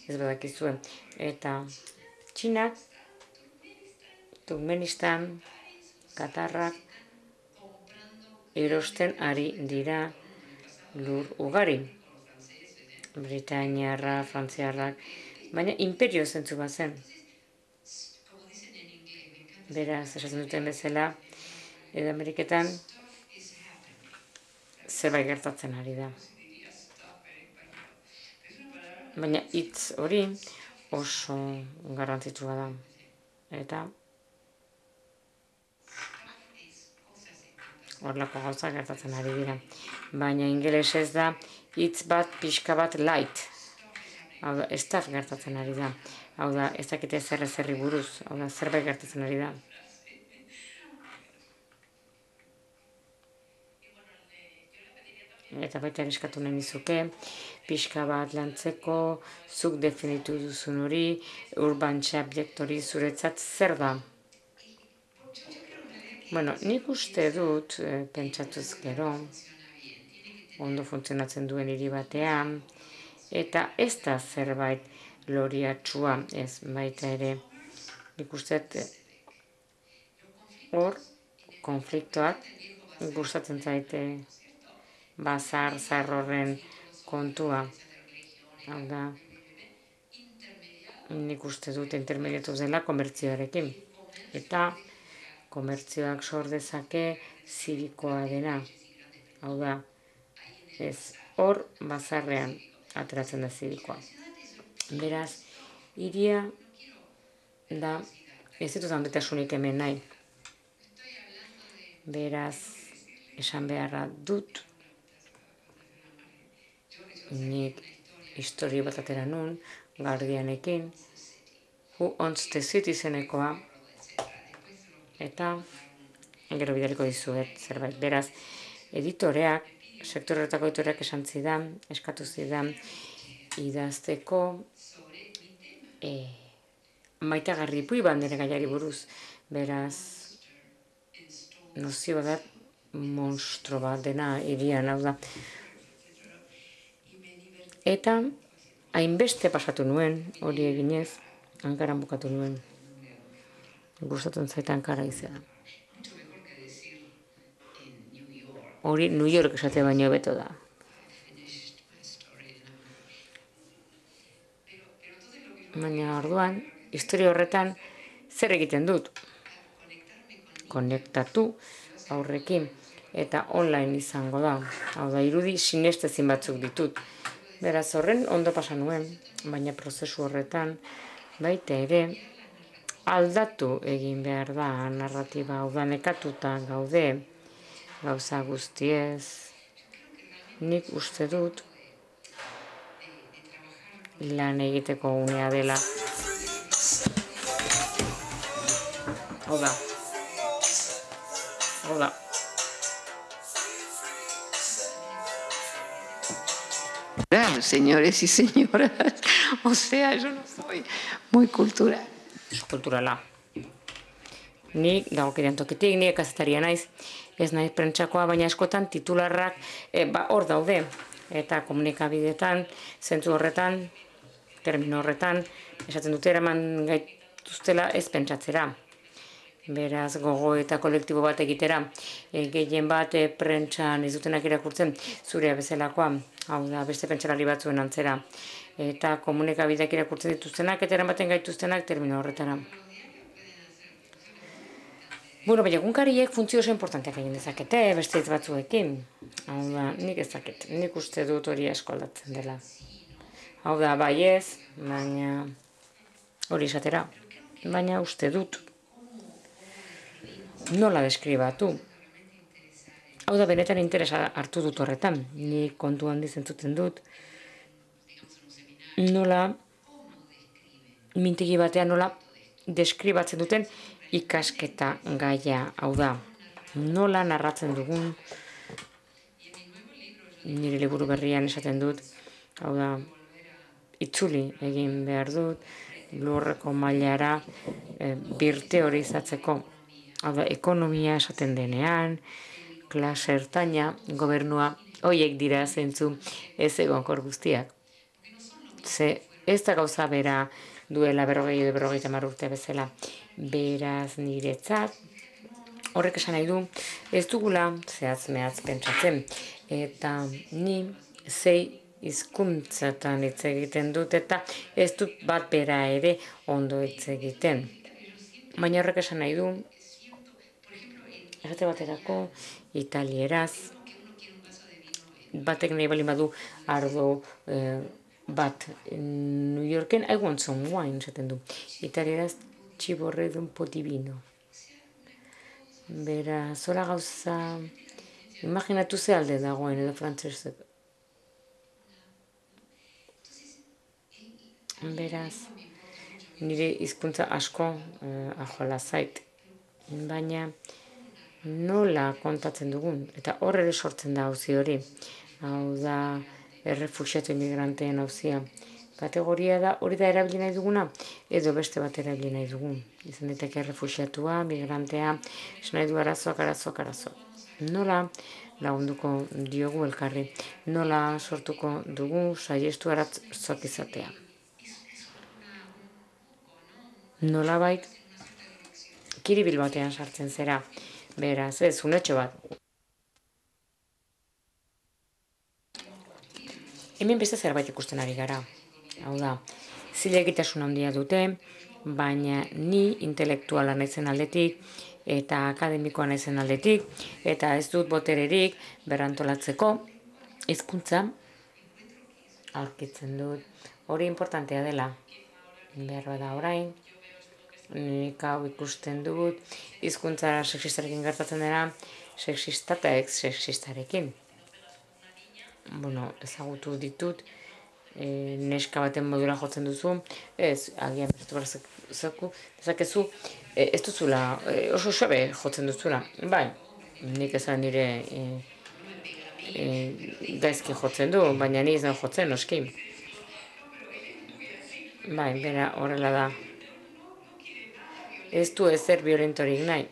Ez badakizuen. Eta Txinak, Turkmenistan, Katarrak erosten ari dira lur ugari. Britainiarra, frantziarrak, baina imperio zentzu bat zen. Beraz, esaten duten bezala, edo Ameriketan zerbait gertatzen ari da. Baina hitz hori oso garrantzitsua da. Eta horrelako gauza gertatzen ari dira. Baina ingelesez da hitz bat pixka bat light. Hau da, staff gertatzen ari da. Hau da, ez dakite zer ezerri buruz. Hau da, zerbait gertatzen ari da. Eta baita eskatu nahi nizuke, pixka bat lantzeko, zuk definitu duzun hori, urban subject hori zuretzat zer da? Bueno, nik uste dut, e, pentsatuz gero, ondo funtzionatzen duen hiri batean, eta ez da zerbait loriatsua, ez baita ere, nik uste hor, konfliktoak, gustatzen zaite, bazar, zar horren kontua. Hau da, nik uste dut intermediatu dela komertzioarekin. Eta komertzioak sor dezake zirikoa dena. Hau da, ez hor bazarrean ateratzen da zirikoa. Beraz, hiria da, ez ditut handitasunik hemen nahi. Beraz, esan beharra dut, nik historio bat atera nun, Guardianekin, Who Owns the City izenekoa, eta gero bidaliko dizuet zerbait. Beraz, editoreak, sektoretako editoreak esan zidan, eskatu zidan, idazteko e, maitagarri pui bandere gaiari buruz. Beraz, nozio da monstro bat dena hirian, hau da. Eta hainbeste pasatu nuen, hori eginez, Ankaran bukatu nuen. Gustatzen zait Ankara izan. Hori New York esate baino beto da. Baina orduan, historia horretan, zer egiten dut? Konektatu aurrekin, eta online izango da. Hau da, irudi sinestezin batzuk ditut. Beraz horren ondo pasa nuen, baina prozesu horretan, baita ere, aldatu egin behar da narratiba, hau da nekatuta gaude, gauza guztiez. Nik uste dut, lan egiteko unea dela. Hau da. Hau da. Claro, señores y señoras, o sea, yo no soy muy cultural. Kulturala. Nik dagokidean tokitik, nik kazetaria naiz, ez naiz prentsakoa, baina askotan titularrak e, ba, hor daude. Eta komunikabidetan, zentzu horretan, termino horretan, esaten dute eraman gaituztela ez pentsatzera. Beraz, gogo eta kolektibo bat egitera, e, gehien bat e, prentsan ez dutenak irakurtzen, zurea bezalakoa, hau da, beste pentsalari batzuen antzera. Eta komunikabideak irakurtzen dituztenak, eta eramaten gaituztenak termino horretara. Bueno, baina egunkariek funtzio oso importanteak egin dezakete, beste hitz batzuekin. Hau da, nik ez dakit, nik uste dut hori asko aldatzen dela. Hau da, bai ez, baina hori esatera. Baina uste dut nola deskribatu. Hau da, benetan interesa hartu dut horretan. Nik kontu handi zentzuten dut. Nola, mintegi batean nola deskribatzen duten ikasketa gaia, hau da. Nola narratzen dugun, nire liburu berrian esaten dut, hau da, itzuli egin behar dut, lurreko mailara e, birteorizatzeko. Hau da, ekonomia esaten denean, klase ertaina, gobernua, hoiek dira zentzu ez egonkor guztiak. Ze ez da gauza bera duela berrogei edo berrogeita hamar urte bezala. Beraz niretzat, Horrek esan nahi du, ez dugula zehatz mehatz pentsatzen. Eta ni zei hizkuntzatan hitz egiten dut eta ez dut bat bera ere ondo hitz egiten. Baina horrek esan nahi du, errate baterako italieraz, batek nahi bali badu ardo eh, bat New Yorken, I want some wine, esaten du. Italieraz, txiborre d'un po divino. Bera, zola gauza, imaginatu ze alde dagoen edo frantzesek. Beraz, nire hizkuntza asko eh, ajola zait. Baina nola kontatzen dugun, eta hor ere sortzen da auzi hori. Hau da, errefuxiatu imigranteen auzia. Kategoria da, hori da erabili nahi duguna, edo beste bat erabili nahi dugun. Izan daiteke errefuxiatua, migrantea, esan nahi du arazoak, arazoak, arazoak. Nola lagunduko diogu elkarri, nola sortuko dugu saiestu arazoak izatea. Nola bait, kiribil batean sartzen zera, beraz, ez, unetxo bat. Hemen beste zerbait ikusten ari gara. Hau da, zilegitasun handia dute, baina ni intelektuala naizen aldetik, eta akademikoa naizen aldetik, eta ez dut botererik berrantolatzeko hizkuntza aurkitzen dut. Hori importantea dela, behar bada orain, nik hau ikusten dut, hizkuntza sexistarekin gertatzen dena, sexista eta ex-sexistarekin. Bueno, ezagutu ditut, e, neska baten modura jotzen duzu, ez, agian bertu berzaku, dezakezu, e, ez duzula, e, oso sobe jotzen duzula. Bai, nik ezan nire e, e, gaizki jotzen du, baina ni izan jotzen, noski. Bai, bera, horrela da. Ez du ezer violentorik nahi.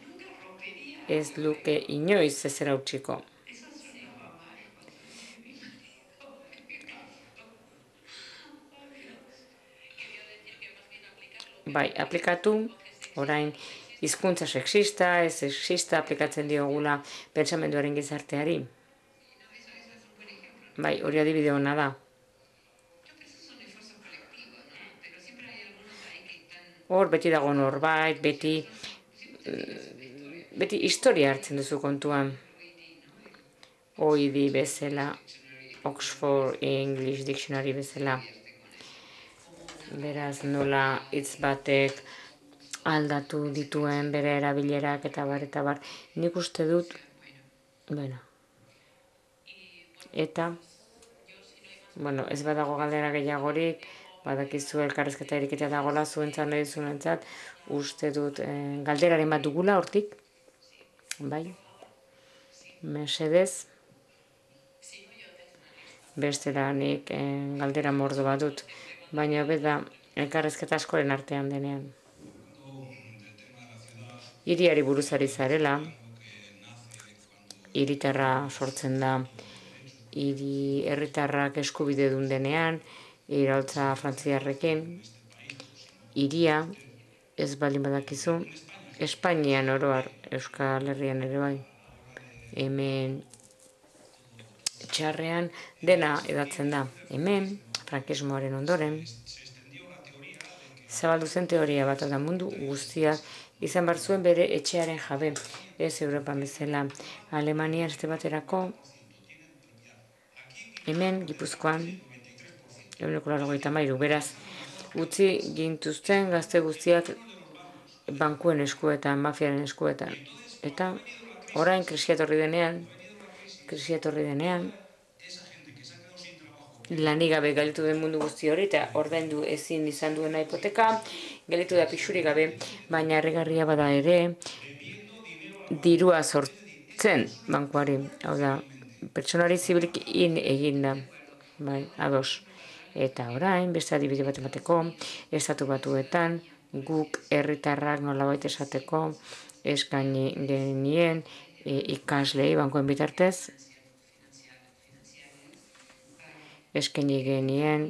Ez luke inoiz ezera utziko. Bai, aplikatu, orain, hizkuntza sexista, ez sexista aplikatzen diogula pentsamenduaren gizarteari. Bai, hori adibide hona da. Hor, beti dago norbait, beti, beti historia hartzen duzu kontuan. O E D bezala, Oxford English Dictionary bezala. Beraz, nola hitz batek aldatu dituen bere erabilerak eta bar, eta bar. Nik uste dut, bueno, eta, bueno, ez badago galdera gehiagorik, badakizu elkarrezketa eriketa dagola zuentzat nahi zuentzat, uste dut eh, galderaren bat dugula hortik, bai, mesedez, bestela nik eh, galdera mordo bat dut, baina beda elkarrezketa askoren artean denean. Hiriari buruzari zarela, hiritarra sortzen da, hiri herritarrak eskubide dun denean, iraultza frantziarrekin, hiria, ez baldin badakizu, Espainian oroar, Euskal Herrian ere bai, hemen txarrean dena edatzen da. Hemen, frankismoaren ondoren, zabaldu zen teoria bat da mundu guztiak izan bar zuen bere etxearen jabe, ez Europan bezala. Alemanian este baterako, hemen, Gipuzkoan, ehuneko laurogeita hamairu, beraz, utzi gintuzten gazte guztiak bankuen eskuetan, mafiaren eskuetan. Eta orain krisia etorri denean, krisia etorri denean, lanik gabe galitu den mundu guzti hori, eta ordaindu ezin izan duena hipoteka, galitu da pixuri gabe, baina erregarria bada ere, dirua sortzen bankuari, hau da, pertsonari zibilik in egin da, bai, ados. Eta orain, beste adibide bat emateko, estatu batuetan, guk herritarrak nolabait esateko, eskaini genien e, ikaslei bankuen bitartez, eskaini genien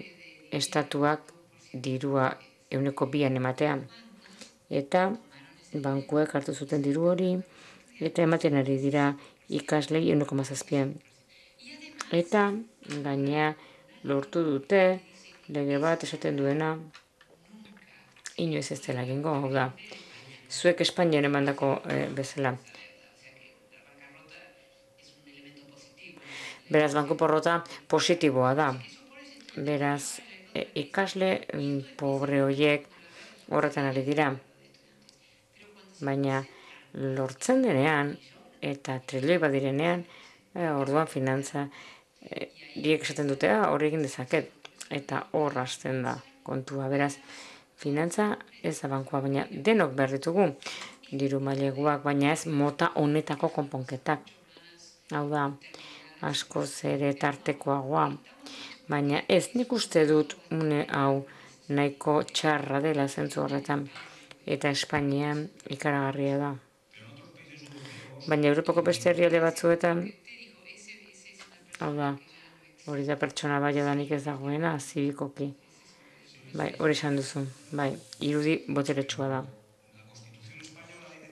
estatuak dirua ehuneko bian ematean. Eta bankuek hartu zuten diru hori, eta ematen ari dira ikaslei ehuneko hamazazpian. Eta gainea lortu dute lege bat esaten duena inoiz ez dela egingo, hau da. Zuek Espainian emandako e, bezala. Beraz, banku porrota positiboa da. Beraz, e, ikasle mm, pobre horiek horretan ari dira. Baina lortzen denean eta trilioi badirenean, e, orduan finantza e, diek esaten dute, ah, hori egin dezaket. Eta hor hasten da kontua. Beraz, finantza ez da bankua, baina denok behar ditugu. Diru maileguak, baina ez mota honetako konponketak. Hau da, askoz ere tartekoagoa. Baina ez nik uste dut une hau nahiko txarra dela zentzu horretan. Eta Espainian ikaragarria da. Baina Europako beste herrialde batzuetan, hau da, hori da pertsona bai adanik ez dagoena, zibikoki. Bai, hori esan duzu. Bai, irudi boteretsua da.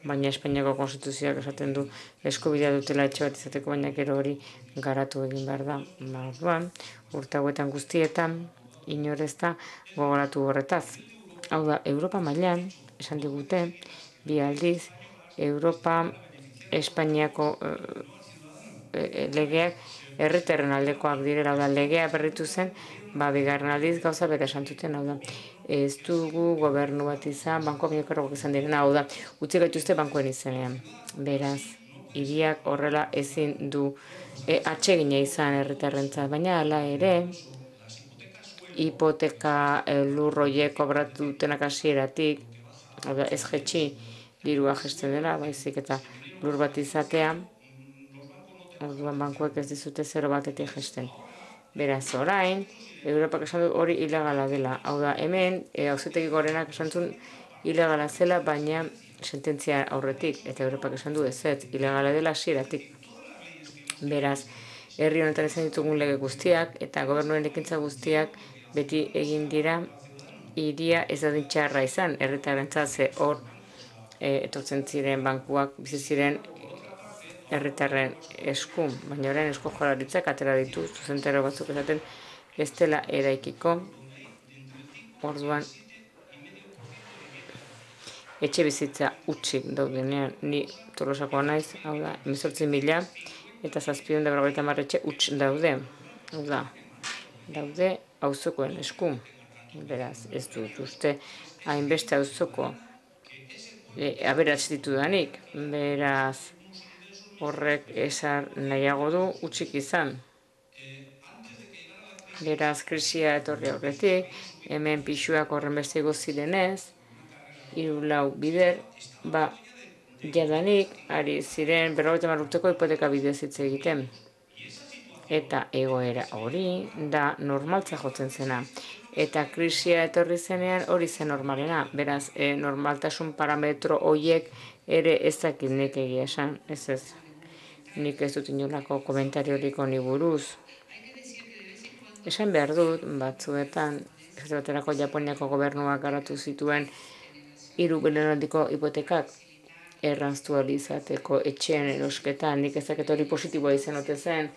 Baina Espainiako konstituzioak esaten du eskubidea dutela etxe bat izateko, baina gero hori garatu egin behar da. Ba, orduan, urte hauetan guztietan, inorez da gogoratu horretaz. Hau da, Europa mailan esan digute, bi aldiz, Europa Espainiako e, e, legeak herritarren aldekoak direla, hau da, legea berritu zen, ba, bigarren aldiz gauza bera esan zuten, hau da. Ez dugu gobernu bat izan, banko binekorrok izan direna, hau da, utzi gaituzte bankuen izenean. Beraz, hiriak horrela ezin du e, atsegina izan herritarrentzat, baina hala ere, hipoteka e, lurroiek kobratu dutenak hasieratik, hau da, ez jetxi dirua jesten dela, baizik eta lur bat izatea, orduan bankuek ez dizute zero batetik jesten. Beraz, orain, Europak esan du hori ilegala dela. Hau da, hemen, e, auzitegi gorenak esan zuen ilegala zela, baina sententzia aurretik, eta Europak esan du ez ez, ilegala dela hasieratik. Beraz, herri honetan izan ditugun lege guztiak, eta gobernuen ekintza guztiak beti egin dira, hiria ez da dintxarra izan, herritarrentzat ze hor e, etortzen ziren bankuak, bizi ziren herritarren esku, baina orain esku jolaritzak atera ditu, zuzentero batzuk esaten ez dela eraikiko, orduan etxe bizitza utxik daudenean, ni Tolosakoa naiz, hau da, hemezortzi mila eta zazpiehun eta berrogeita hamar etxe utx daude, hau da, daude auzokoen esku, beraz, ez dut uste hainbeste auzoko e, aberats ditudanik, beraz, horrek esan nahiago du utxik izan. Beraz, krisia etorri aurretik, hemen pixuak horren beste igo zirenez, hiru lau bider, ba, jadanik, ari ziren berrogeita hamar urteko hipoteka bidez hitz egiten. Eta egoera hori da normaltza jotzen zena. Eta krisia etorri zenean hori zen normalena. Beraz, e, normaltasun parametro horiek ere ez dakit nik egia esan, ez ez. Nik ez dut inolako komentariorik honi buruz. Esan behar dut, batzuetan, ez baterako Japoniako gobernuak garatu zituen hiru belaunaldiko hipotekak erraztu ahal izateko etxean erosketan, nik ez dakit hori positiboa izan ote zen,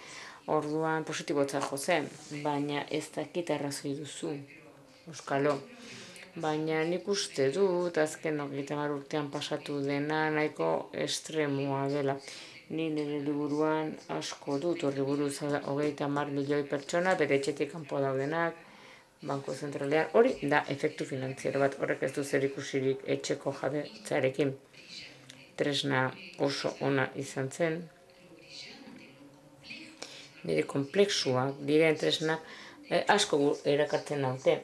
orduan positibotzat jo zen, baina ez dakit arrazoi duzu, euskalo. Baina nik uste dut, azken hogeita hamar urtean pasatu dena nahiko estremoa dela. Ni nire liburuan asko dut horri buruz, hogeita hamar milioi pertsona, bere etxetik kanpo daudenak, banko zentralean, hori da efektu finantziero bat, horrek ez du zer ikusirik etxeko jabetzarekin. Tresna oso ona izan zen. Nire komplexuak diren tresnak eh, asko erakartzen naute.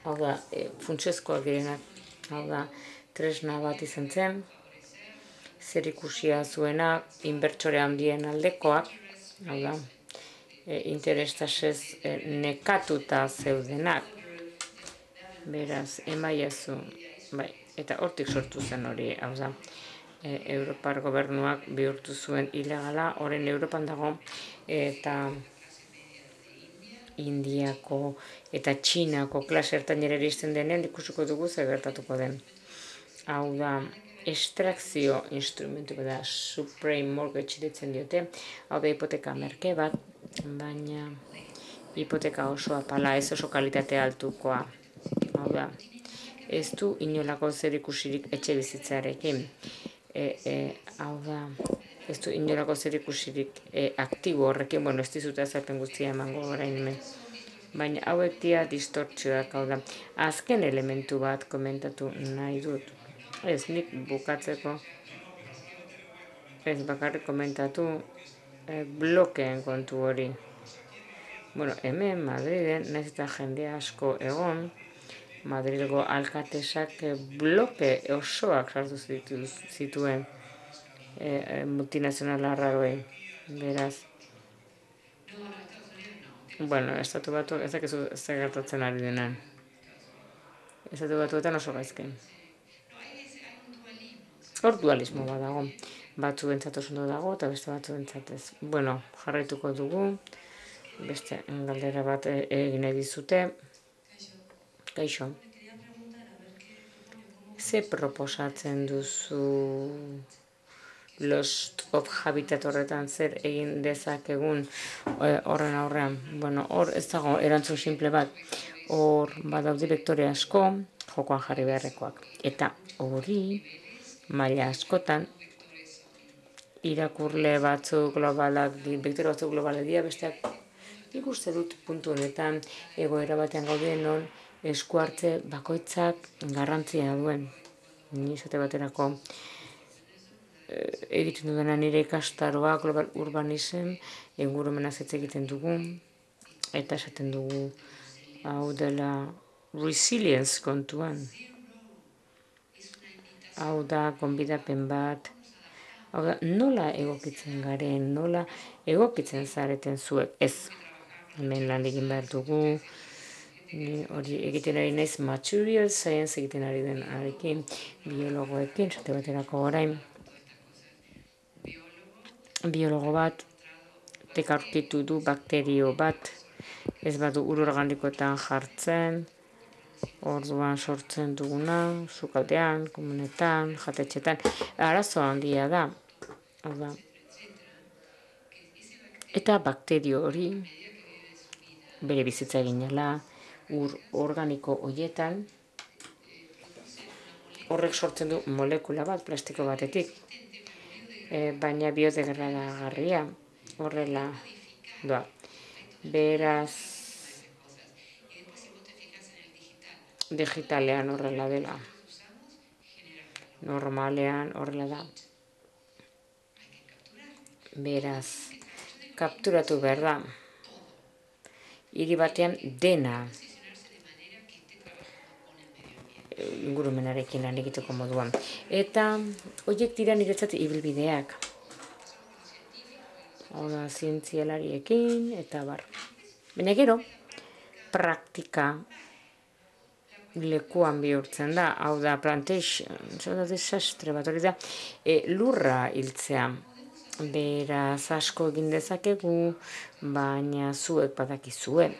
Hau da, e, funtsezkoak direnak, hau da, tresna bat izan zen, zer ikusia zuenak, inbertsore handien aldekoak, hau da, e, interestasez e, nekatuta zeudenak, beraz, emaiazu, bai, eta hortik sortu zen hori, hau da, e, Europar gobernuak bihurtu zuen ilegala, orain Europan dago, eta Indiako eta Txinako klase ertainera iristen denean ikusiko dugu zer gertatuko den. hau da, estrakzio instrumentu bat da, Supreme Mortgage ditzen diote, hau da hipoteka merke bat, baina hipoteka oso apala, ez oso kalitate altukoa, hau da, ez du inolako zer ikusirik etxe bizitzarekin, e, e, hau da, ez du inolako zer ikusirik e, aktibo horrekin, bueno, ez dizute azalpen guztia emango orain hemen. Baina hauek dia distortzioak, hau da. Azken elementu bat komentatu nahi dut. Ez, nik bukatzeko, ez bakarrik komentatu e, blokeen kontu hori. Bueno, hemen Madriden, nahiz eta jende asko egon, Madrilgo alkatesak bloke osoak sartu zituen e, e, multinazional arraroei. Beraz, bueno, estatu batu, ez dakizu ez gertatzen ari denan. Estatu batuetan oso gaizken. Hor dualismo bat dago. Batzu entzat oso ondo dago, eta beste batzu entzatez. Bueno, jarraituko dugu. Beste galdera bat egin nahi dizute. Kaixo. Ze proposatzen duzu Lost of Habitat horretan zer egin dezakegun horren aurrean? Bueno, hor ez dago erantzun simple bat. Hor badau direktore asko, jokoan jarri beharrekoak. Eta hori, maila askotan, irakurle batzuk globalak, direktore batzuk globalak dira, besteak nik uste dut puntu honetan egoera batean gaude non esku hartze bakoitzak garrantzia duen. Ni esate baterako egiten dudana nire ikastaroa global urbanism ingurumenaz hitz egiten dugu eta esaten dugu hau dela resilience kontuan. Hau da gonbidapen bat, hau da nola egokitzen garen, nola egokitzen zareten zuek, ez. Hemen lan egin behar dugu, hori egiten ari naiz material science egiten ari den arekin, biologoekin, esate baterako orain. Biologo bat, tekarkitu du bakterio bat, ez badu ur organikoetan jartzen, orduan sortzen duguna, sukaldean, komunetan, jatetxetan, arazo handia da. Hau eta bakterio hori, bere bizitza eginela, ur organiko horietan, horrek sortzen du molekula bat, plastiko batetik, e, baina biodegradagarria horrela doa. Beraz, digitalean horrela dela. Normalean horrela da. Beraz, kapturatu behar da. Hiri batean dena ingurumenarekin lan egiteko moduan. Eta horiek dira niretzat ibilbideak. Hau da, zientzialariekin, eta bar. Baina gero, praktika lekuan bihurtzen da, hau da, plantation, hau da, desastre bat hori da, e, lurra hiltzea. Beraz asko egin dezakegu, baina zuek badakizue.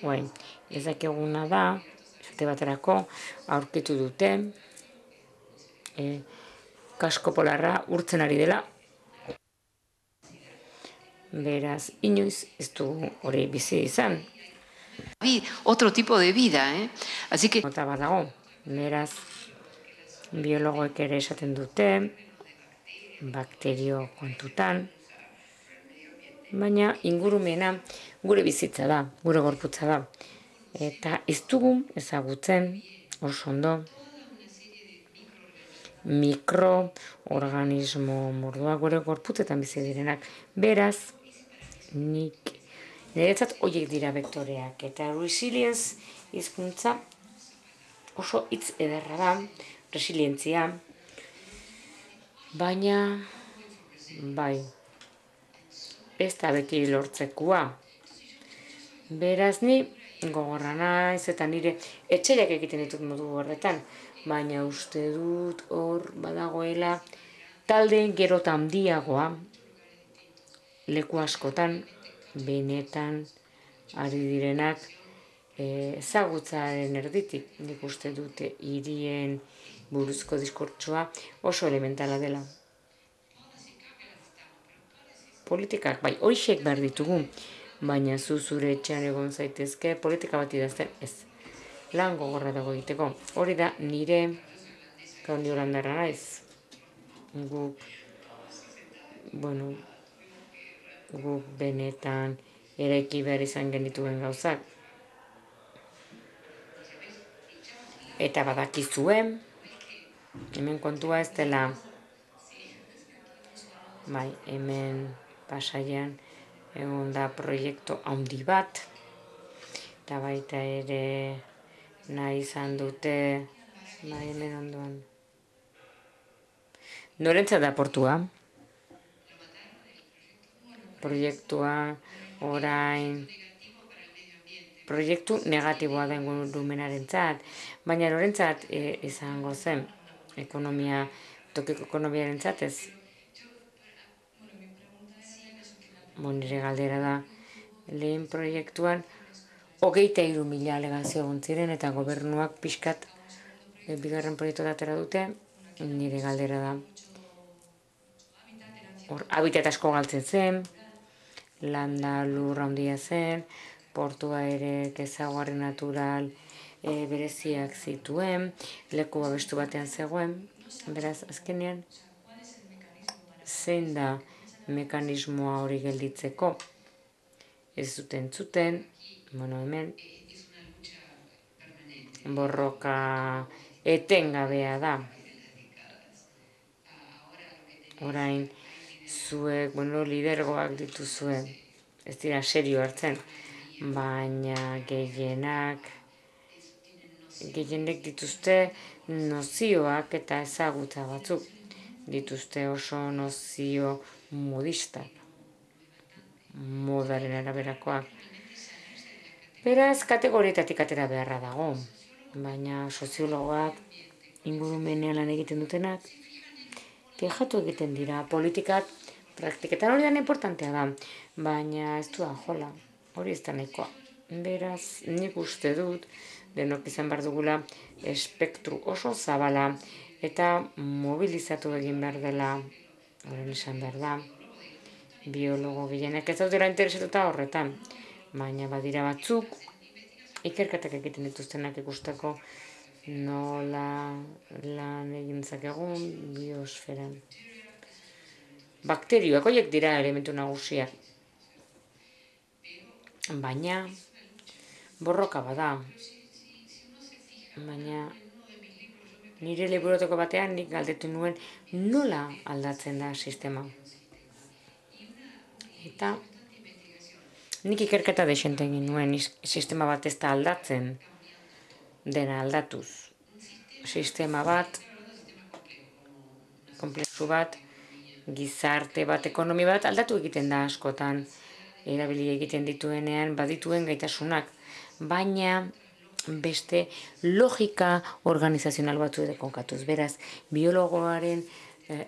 Oain, ezakeguna da, esate baterako, aurkitu dute, e, kasko polarra urtzen ari dela. Beraz, inoiz ez du hori bizi izan. Otro tipo de vida, eh? Así que... Nota bat dago, beraz, biologoek ere esaten dute, bakterio kontutan, baina ingurumena gure bizitza da, gure gorputza da. Eta ez dugu ezagutzen oso ondo mikroorganismo mordua gure gorputzetan bizi direnak. Beraz, nik niretzat horiek dira vektoreak. Eta resilience hizkuntza oso hitz ederra da, resilientzia, baina bai, ez da beti lortzekua. Beraz, ni gogorra naiz eta nire etxeak egiten ditut modu horretan, baina uste dut hor badagoela talde gero eta handiagoa leku askotan benetan ari direnak ezagutzaren erditik, nik uste dute hirien buruzko diskurtsoa oso elementala dela. Politikak, bai, hoixek behar ditugu, baina zu zure etxean egon zaitezke politika bat idazten, ez. Lan gogorra dago egiteko. Hori da nire, kaundi holandarra naiz, guk, bueno, guk benetan eraiki behar izan genituen gauzak. Eta badakizue, hemen kontua ez dela, bai, hemen Pasaian egon da proiektu handi bat, eta baita ere nahi izan dute, bai, hemen ondoan. Norentzat da portua? Proiektua orain, proiektu negatiboa da ingurumenarentzat, baina norentzat e, izango zen, ekonomia, tokiko ekonomiarentzat ez. Bon, nire galdera da, lehen proiektuan, hogeita hiru mila alegazio egon ziren eta gobernuak pixkat e, bigarren proiektu atera dute, nire galdera da. Hor, habitat asko galtzen zen, landa lur handia zen, portua ere kezaguarri natural e, bereziak zituen, leku babestu batean zegoen, beraz, azkenean, zein da mekanismoa hori gelditzeko? Ez zuten zuten, bueno, hemen, borroka etengabea da. Orain, zuek, bueno, lidergoak dituzue, ez dira serio hartzen, baina gehienak, gehienek dituzte nozioak eta ezagutza batzuk, dituzte oso nozio modistak, modaren araberakoak. Beraz, kategorietatik atera beharra dago, baina soziologoak ingurumenean lan egiten dutenak, fijatu egiten dira, politikak, praktiketan hori da importantea da, baina ez du jola, hori ez da nahikoa. Beraz, nik uste dut, denok izan behar dugula, espektru oso zabala, eta mobilizatu egin behar dela, horren esan behar da, biologo gehienek ez daudela interesatuta horretan, baina badira batzuk, ikerketak egiten dituztenak ikusteko nola lan egin zakegun biosferan. Bakterioak, horiek dira elementu nagusiak. Baina, borroka bada. Baina, nire liburoteko batean nik galdetu nuen nola aldatzen da sistema. Eta, nik ikerketa desente egin nuen sistema bat ez da aldatzen, dena aldatuz. Sistema bat, komplexu bat, gizarte bat, ekonomi bat, aldatu egiten da askotan, erabili egiten dituenean badituen gaitasunak, baina beste logika organizazional batzu ere konkatuz. Beraz, biologoaren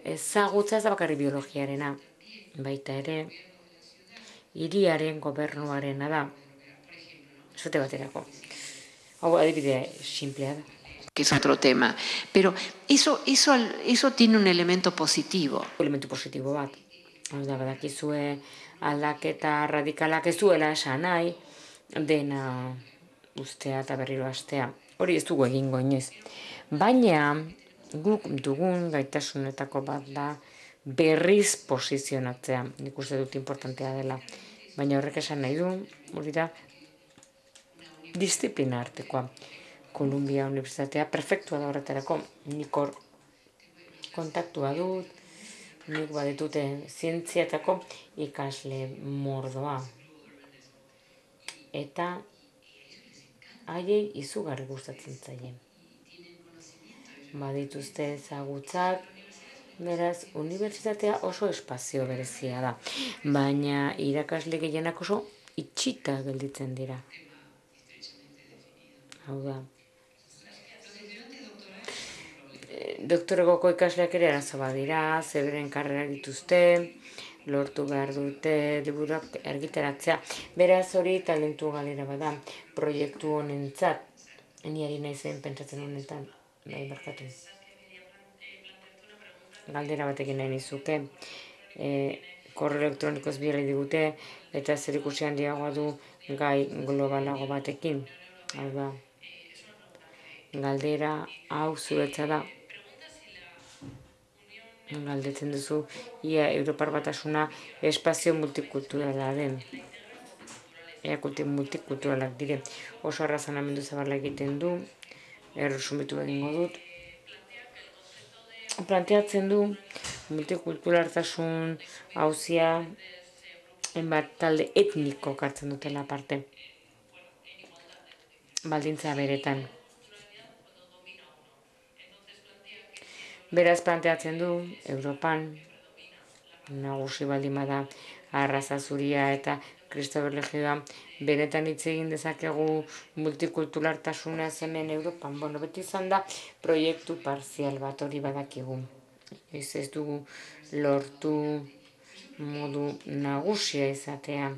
ezagutza ez da bakarri biologiarena, baita ere, hiriaren gobernuarena da, zute baterako. Hau adibidea simplea da. Que es otro tema. Pero eso, eso, eso tiene un elemento positivo. Elementu positibo bat. Hau da, badakizue aldaketa radikalak ez duela esan nahi, dena ustea eta berriro astea. Hori ez dugu egingo inoiz. Baina, guk dugun gaitasunetako bat da berriz posizionatzea. Nik uste dut importantea dela. Baina horrek esan nahi du, hori da, disiplina artekoa. Kolumbia Unibertsitatea perfektua da horretarako. Nik hor kontaktua dut, nik baditute zientziatako ikasle mordoa. Eta haiei izugarri gustatzen zaie. Badituzte ezagutzak, beraz, unibertsitatea oso espazio berezia da. Baina irakasle gehienak oso itxita gelditzen dira. Hau da. Doktoregoko ikasleak ere arazo badira, zeberen karrera dituzte, lortu behar dute, liburuak argitaratzea. Beraz hori talentu galera bada, proiektu honentzat, niari nahi zen pentsatzen honetan, bai barkatu. galdera batekin nahi nizuke. E, korreo elektronikoz bidali digute eta zer ikusi handiagoa du gai globalago batekin. Hau da, galdera hau zuretza da. Galdetzen duzu, ia Europar Batasuna espazio multikulturala den. Ea multikulturalak dire. Oso arrazonamendu zabala egiten du, erresumitu egingo dut. Planteatzen du multikulturaltasun hauzia enbat talde etniko kartzen dutela parte. Baldintza beretan. Beraz planteatzen du, Europan, nagusi baldin bada arraza zuria eta Kristober legioa, benetan hitz egin dezakegu multikulturaltasuna hemen Europan. Bueno, beti izan da proiektu parzial bat hori badakigu. Ez ez dugu lortu modu nagusia izatea.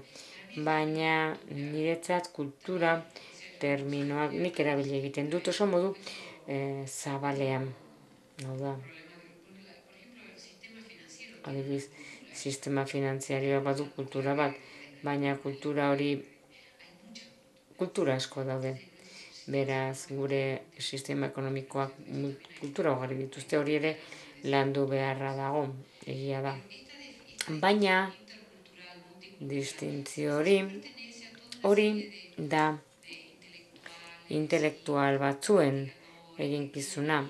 Baina niretzat kultura terminoak nik erabili egiten dut oso modu e, zabalean. Hau da. Adibidez, sistema finanziarioa badu kultura bat, baina kultura hori kultura asko daude. Beraz, gure sistema ekonomikoak kultura ugari dituzte, hori ere landu beharra dago, egia da. Baina, distintzio hori, hori da intelektual batzuen eginkizuna,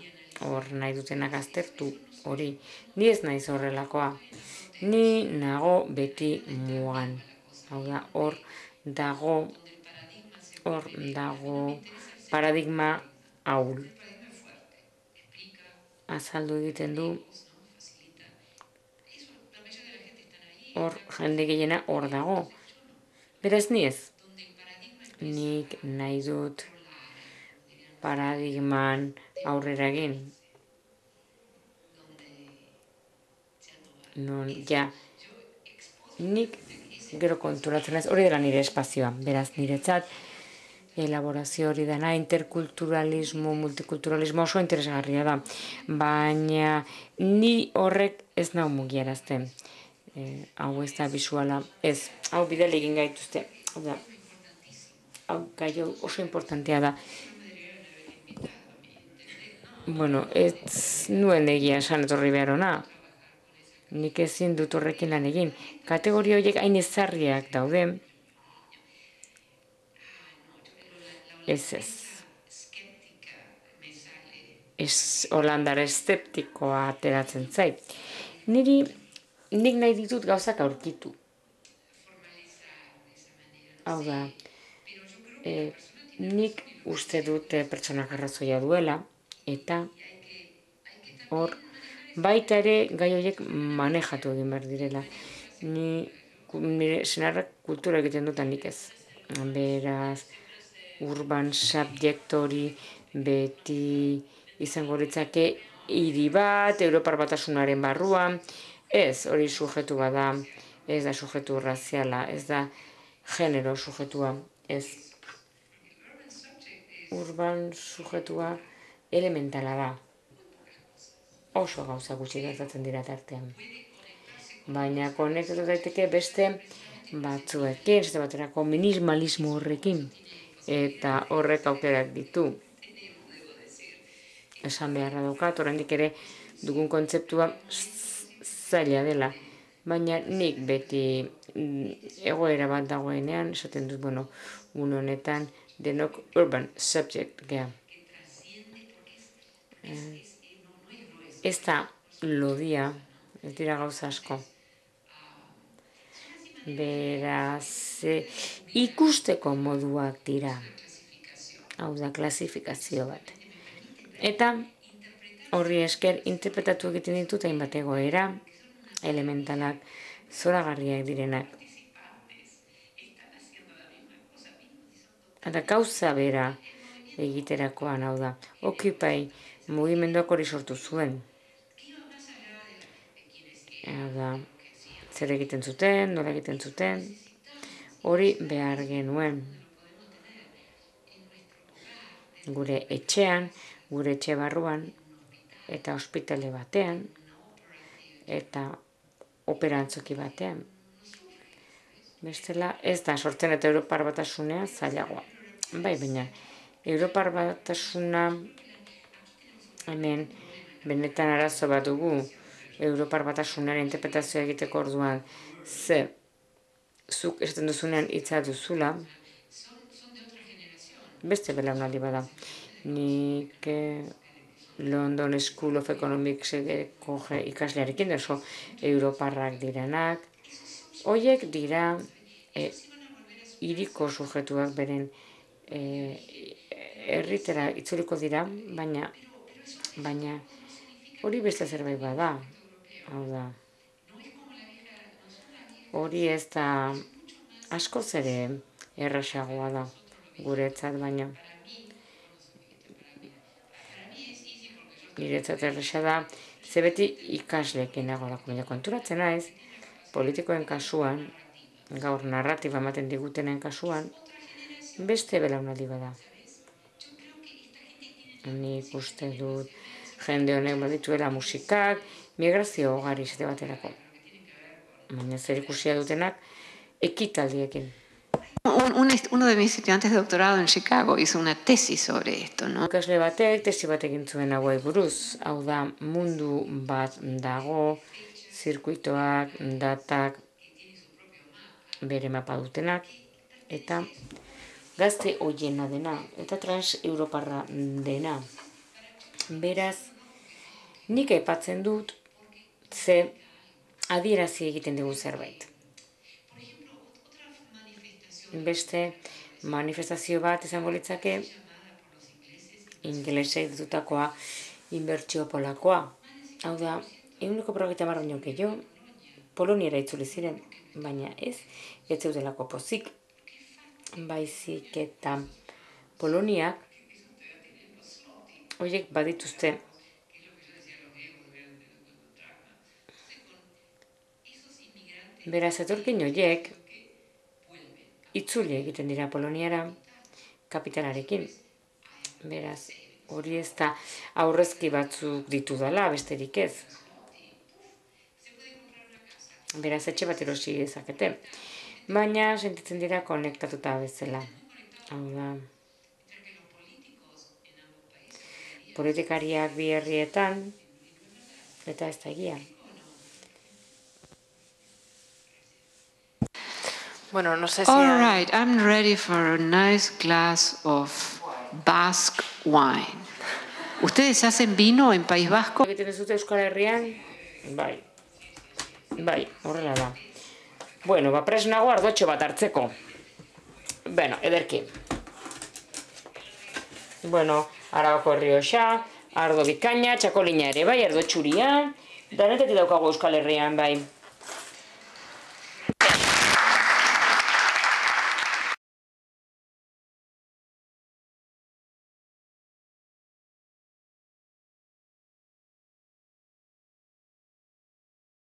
hor nahi dutenak aztertu hori. Ni ez naiz horrelakoa, ni nago beti mugan. Hau da, hor dago, hor dago paradigma ahul. Azaldu egiten du, hor jende gehiena hor dago. Beraz ni ez. Nik nahi dut paradigman aurrera egin. Non, ja, nik gero konturatzen ez, hori dela nire espazioa. Beraz, niretzat, elaborazio hori dena, interkulturalismo, multikulturalismo oso interesgarria da. Baina, ni horrek ez nau mugiarazten. E, hau ez da bisuala, ez, hau bidele egin gaituzte. Hau, hau gai oso importantea da. Bueno, ez nuen egia esan etorri behar ona. Nik ezin dut horrekin lan egin. Kategoria horiek hain ezarriak daude. Ez ez. Ez holandar eszeptikoa ateratzen zait. Niri, nik nahi ditut gauzak aurkitu. Hau da, e, nik uste dut pertsonak arrazoia duela, eta hor, baita ere gai horiek manejatu egin behar direla. Ni, nire senarrak kultura egiten dutan nik ez. Beraz, urban subject hori beti izango litzake hiri bat, Europar Batasunaren barruan, ez, hori sujetu bada, ez da sujetu raziala, ez da genero sujetua, ez. Urban sujetua elementala da. Oso gauza gutxi gertatzen dira tartean. Baina konektatu daiteke beste batzuekin, beste baterako minimalismo horrekin. Eta horrek aukerak ditu. Esan beharra daukat, oraindik ere dugun kontzeptua zaila dela. Baina nik beti egoera bat dagoenean, esaten dut, bueno, un honetan denok urban subject gea. Ez da lodia, ez dira gauza asko. Beraz, ikusteko moduak dira. Hau da, klasifikazio bat. Eta horri esker interpretatu egiten ditut hainbat egoera, elementalak, zoragarriak direnak. Eta gauza bera egiterakoan, hau da, Occupy mugimenduak hori sortu zuen. Da, zer egiten zuten, nola egiten zuten, hori behar genuen. Gure etxean, gure etxe barruan, eta ospitale batean, eta opera antzoki batean. Bestela, ez da sortzen eta Europar Batasunean zailagoa. Bai, baina, Europar Batasuna hemen benetan arazo bat dugu Europar Batasunaren interpretazioa egiteko orduan ze zuk esaten duzunean hitza duzula, beste belaunaldi bada. Nik London School of Economicseko ikaslearekin oso Europarrak direnak, horiek dira hiriko sujetuak beren herritera itzuliko dira, baina baina hori beste zerbait bada. Hau da, hori ez da askoz ere errazagoa da guretzat, baina niretzat erraza da, ze beti ikasleekin nagolako, baina konturatzen naiz, politikoen kasuan, gaur narratiba ematen digutenen kasuan, beste belaunaldi bada. Nik uste dut jende honek badituela musikak, migrazio ugari esate baterako. Baina zer ikusia dutenak ekitaldiekin. Uno de mis estudiantes de doctorado en Chicago hizo una tesis sobre esto, ¿no? Ikasle batek tesi bat egin zuen hauei buruz. Hau da, mundu bat dago, zirkuitoak, datak, bere mapa dutenak, eta gazte hoiena dena, eta trans-europarra dena. Beraz, nik aipatzen dut, ze adierazi egiten dugu zerbait. Beste manifestazio bat izango litzake ingelesek ditutakoa inbertsio polakoa. Hau da, ehuneko berrogeita hamar baino gehiago Poloniara itzuli ziren, baina ez, ez zeudelako pozik. Baizik eta Poloniak horiek badituzte beraz etorkin horiek itzuli egiten dira Poloniara kapitalarekin. Beraz, hori ez da aurrezki batzuk ditu dela, besterik ez. Beraz, etxe bat erosi dezakete. Baina, sentitzen dira konektatuta bezala. Hau da, politikariak bi herrietan, eta ez da egia. Bueno, no sé si... All right, I'm ready for a nice glass of Basque wine. ¿Ustedes hacen vino en País Vasco? Egiten duzute Euskal Herrian? Bai. Bai, horrela da. Bueno, ba, pres nago ardotxo bat hartzeko. Bueno, ederki. Bueno, Arabako Errioxa, ardo bikaina, txakolina ere, bai, ardo txuria, danetetik daukagu Euskal Herrian, bai.